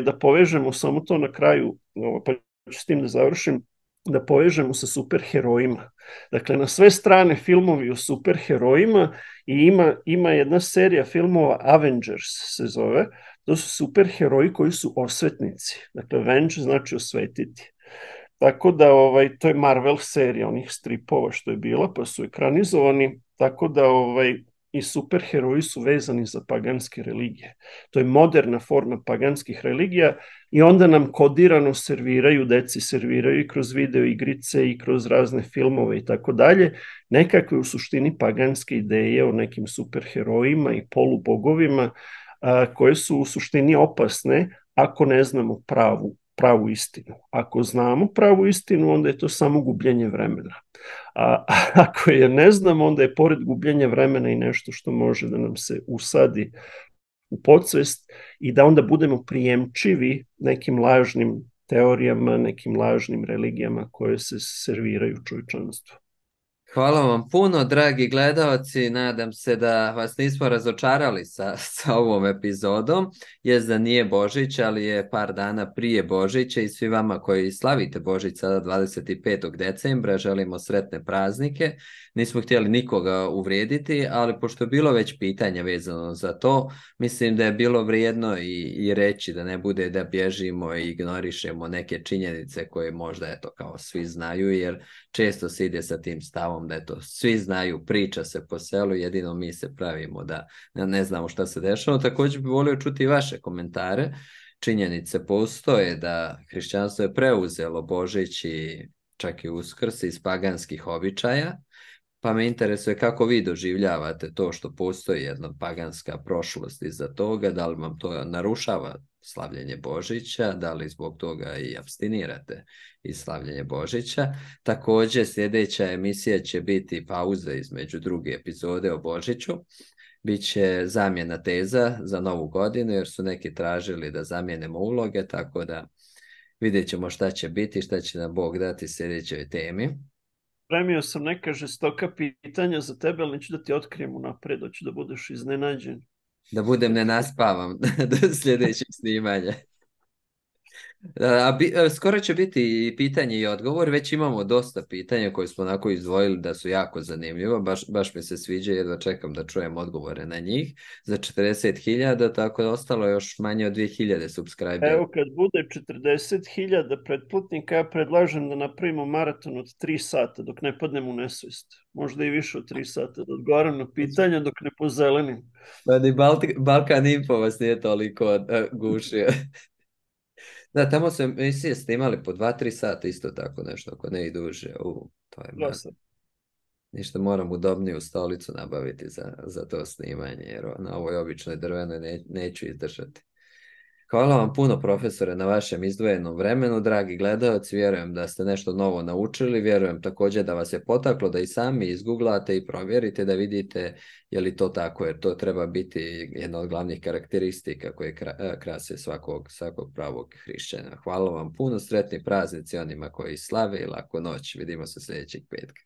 S2: da povežemo samo to na kraju, pa ću s tim da završim, da povežemo sa superherojima. Dakle, na sve strane filmovi o superherojima, i ima jedna serija filmova, Avengers se zove, to su superheroji koji su osvetnici. Dakle, Avenge znači osvetiti. Tako da to je Marvel serija onih stripova što je bila, pa su ekranizovani, tako da i superheroji su vezani za paganske religije. To je moderna forma paganskih religija, i onda nam kodirano serviraju, deci serviraju i kroz video igrice i kroz razne filmove i tako dalje, nekakve u suštini paganske ideje o nekim superherojima i polubogovima, koje su u suštini opasne ako ne znamo pravu istinu. Ako znamo pravu istinu, onda je to samo gubljenje vremena. A ako je ne znamo, onda je pored gubljenja vremena i nešto što može da nam se usadi u podsvest i da onda budemo prijemčivi nekim lažnim teorijama, nekim lažnim religijama koje se serviraju čovječanstvu.
S1: Hvala vam puno, dragi gledaoci. Nadam se da vas nismo razočarali sa ovom epizodom. Jest da nije Božić, ali je par dana prije Božića i svi vama koji slavite Božić sada 25. decembra želimo sretne praznike. Nismo htjeli nikoga uvrijediti, ali pošto je bilo već pitanja vezano za to, mislim da je bilo vrijedno i reći da ne bude da bježimo i ignorišemo neke činjenice koje možda eto kao svi znaju, jer često se ide sa tim stavom da eto, svi znaju, priča se po selu, jedino mi se pravimo da ne znamo šta se dešava. Također bih volio čuti i vaše komentare. Činjenice postoje da hrišćanstvo je preuzelo Božić i čak i Uskrs iz paganskih običaja, pa me interesuje kako vi doživljavate to što postoji jedna paganska prošlost iza toga, da li vam to narušava slavljenje Božića, da li zbog toga i abstinirate iz slavljenja Božića. Također sljedeća emisija će biti pauza između druge epizode o Božiću. Biće zamjena teza za novu godinu jer su neki tražili da zamijenimo uloge, tako da vidjet ćemo šta će biti, šta će nam Bog dati sljedećoj temi.
S2: Premio sam neka žestoka pitanja za tebe, ali neću da ti otkrijem unapred, hoću da budeš iznenađen.
S1: Da budem ne naspavam do sljedećeg snimanja. Skoro će biti i pitanje i odgovor, već imamo dosta pitanja koje smo onako izdvojili da su jako zanimljivo, baš mi se sviđa, jedva čekam da čujem odgovore na njih za 40.000, tako da ostalo još manje od 2.000 subscribera.
S2: Evo kad bude 40.000 pretplatnika, ja predlažem da napravimo maraton od 3 sata dok ne padnem u nesvijest. Možda i više od 3 sata, da odgovaram na pitanja dok ne pozelenim.
S1: Pa ni Balkan Info vas nije toliko gušio. Da, tamo su emisije snimali po 2-3 sata isto tako nešto, ako ne i duže. To je ništa, moram udobniju stolicu nabaviti za to snimanje, jer na ovoj običnoj drvenoj neću izdržati. Hvala vam puno, profesore, na vašem izdvojenom vremenu, dragi gledaoci, vjerujem da ste nešto novo naučili, vjerujem također da vas je potaklo da i sami izguglate i provjerite da vidite je li to tako, jer to treba biti jedna od glavnih karakteristika koje krase svakog pravog hrišćana. Hvala vam puno, sretni praznici onima koji slave i laku noć, vidimo se sljedećeg petka.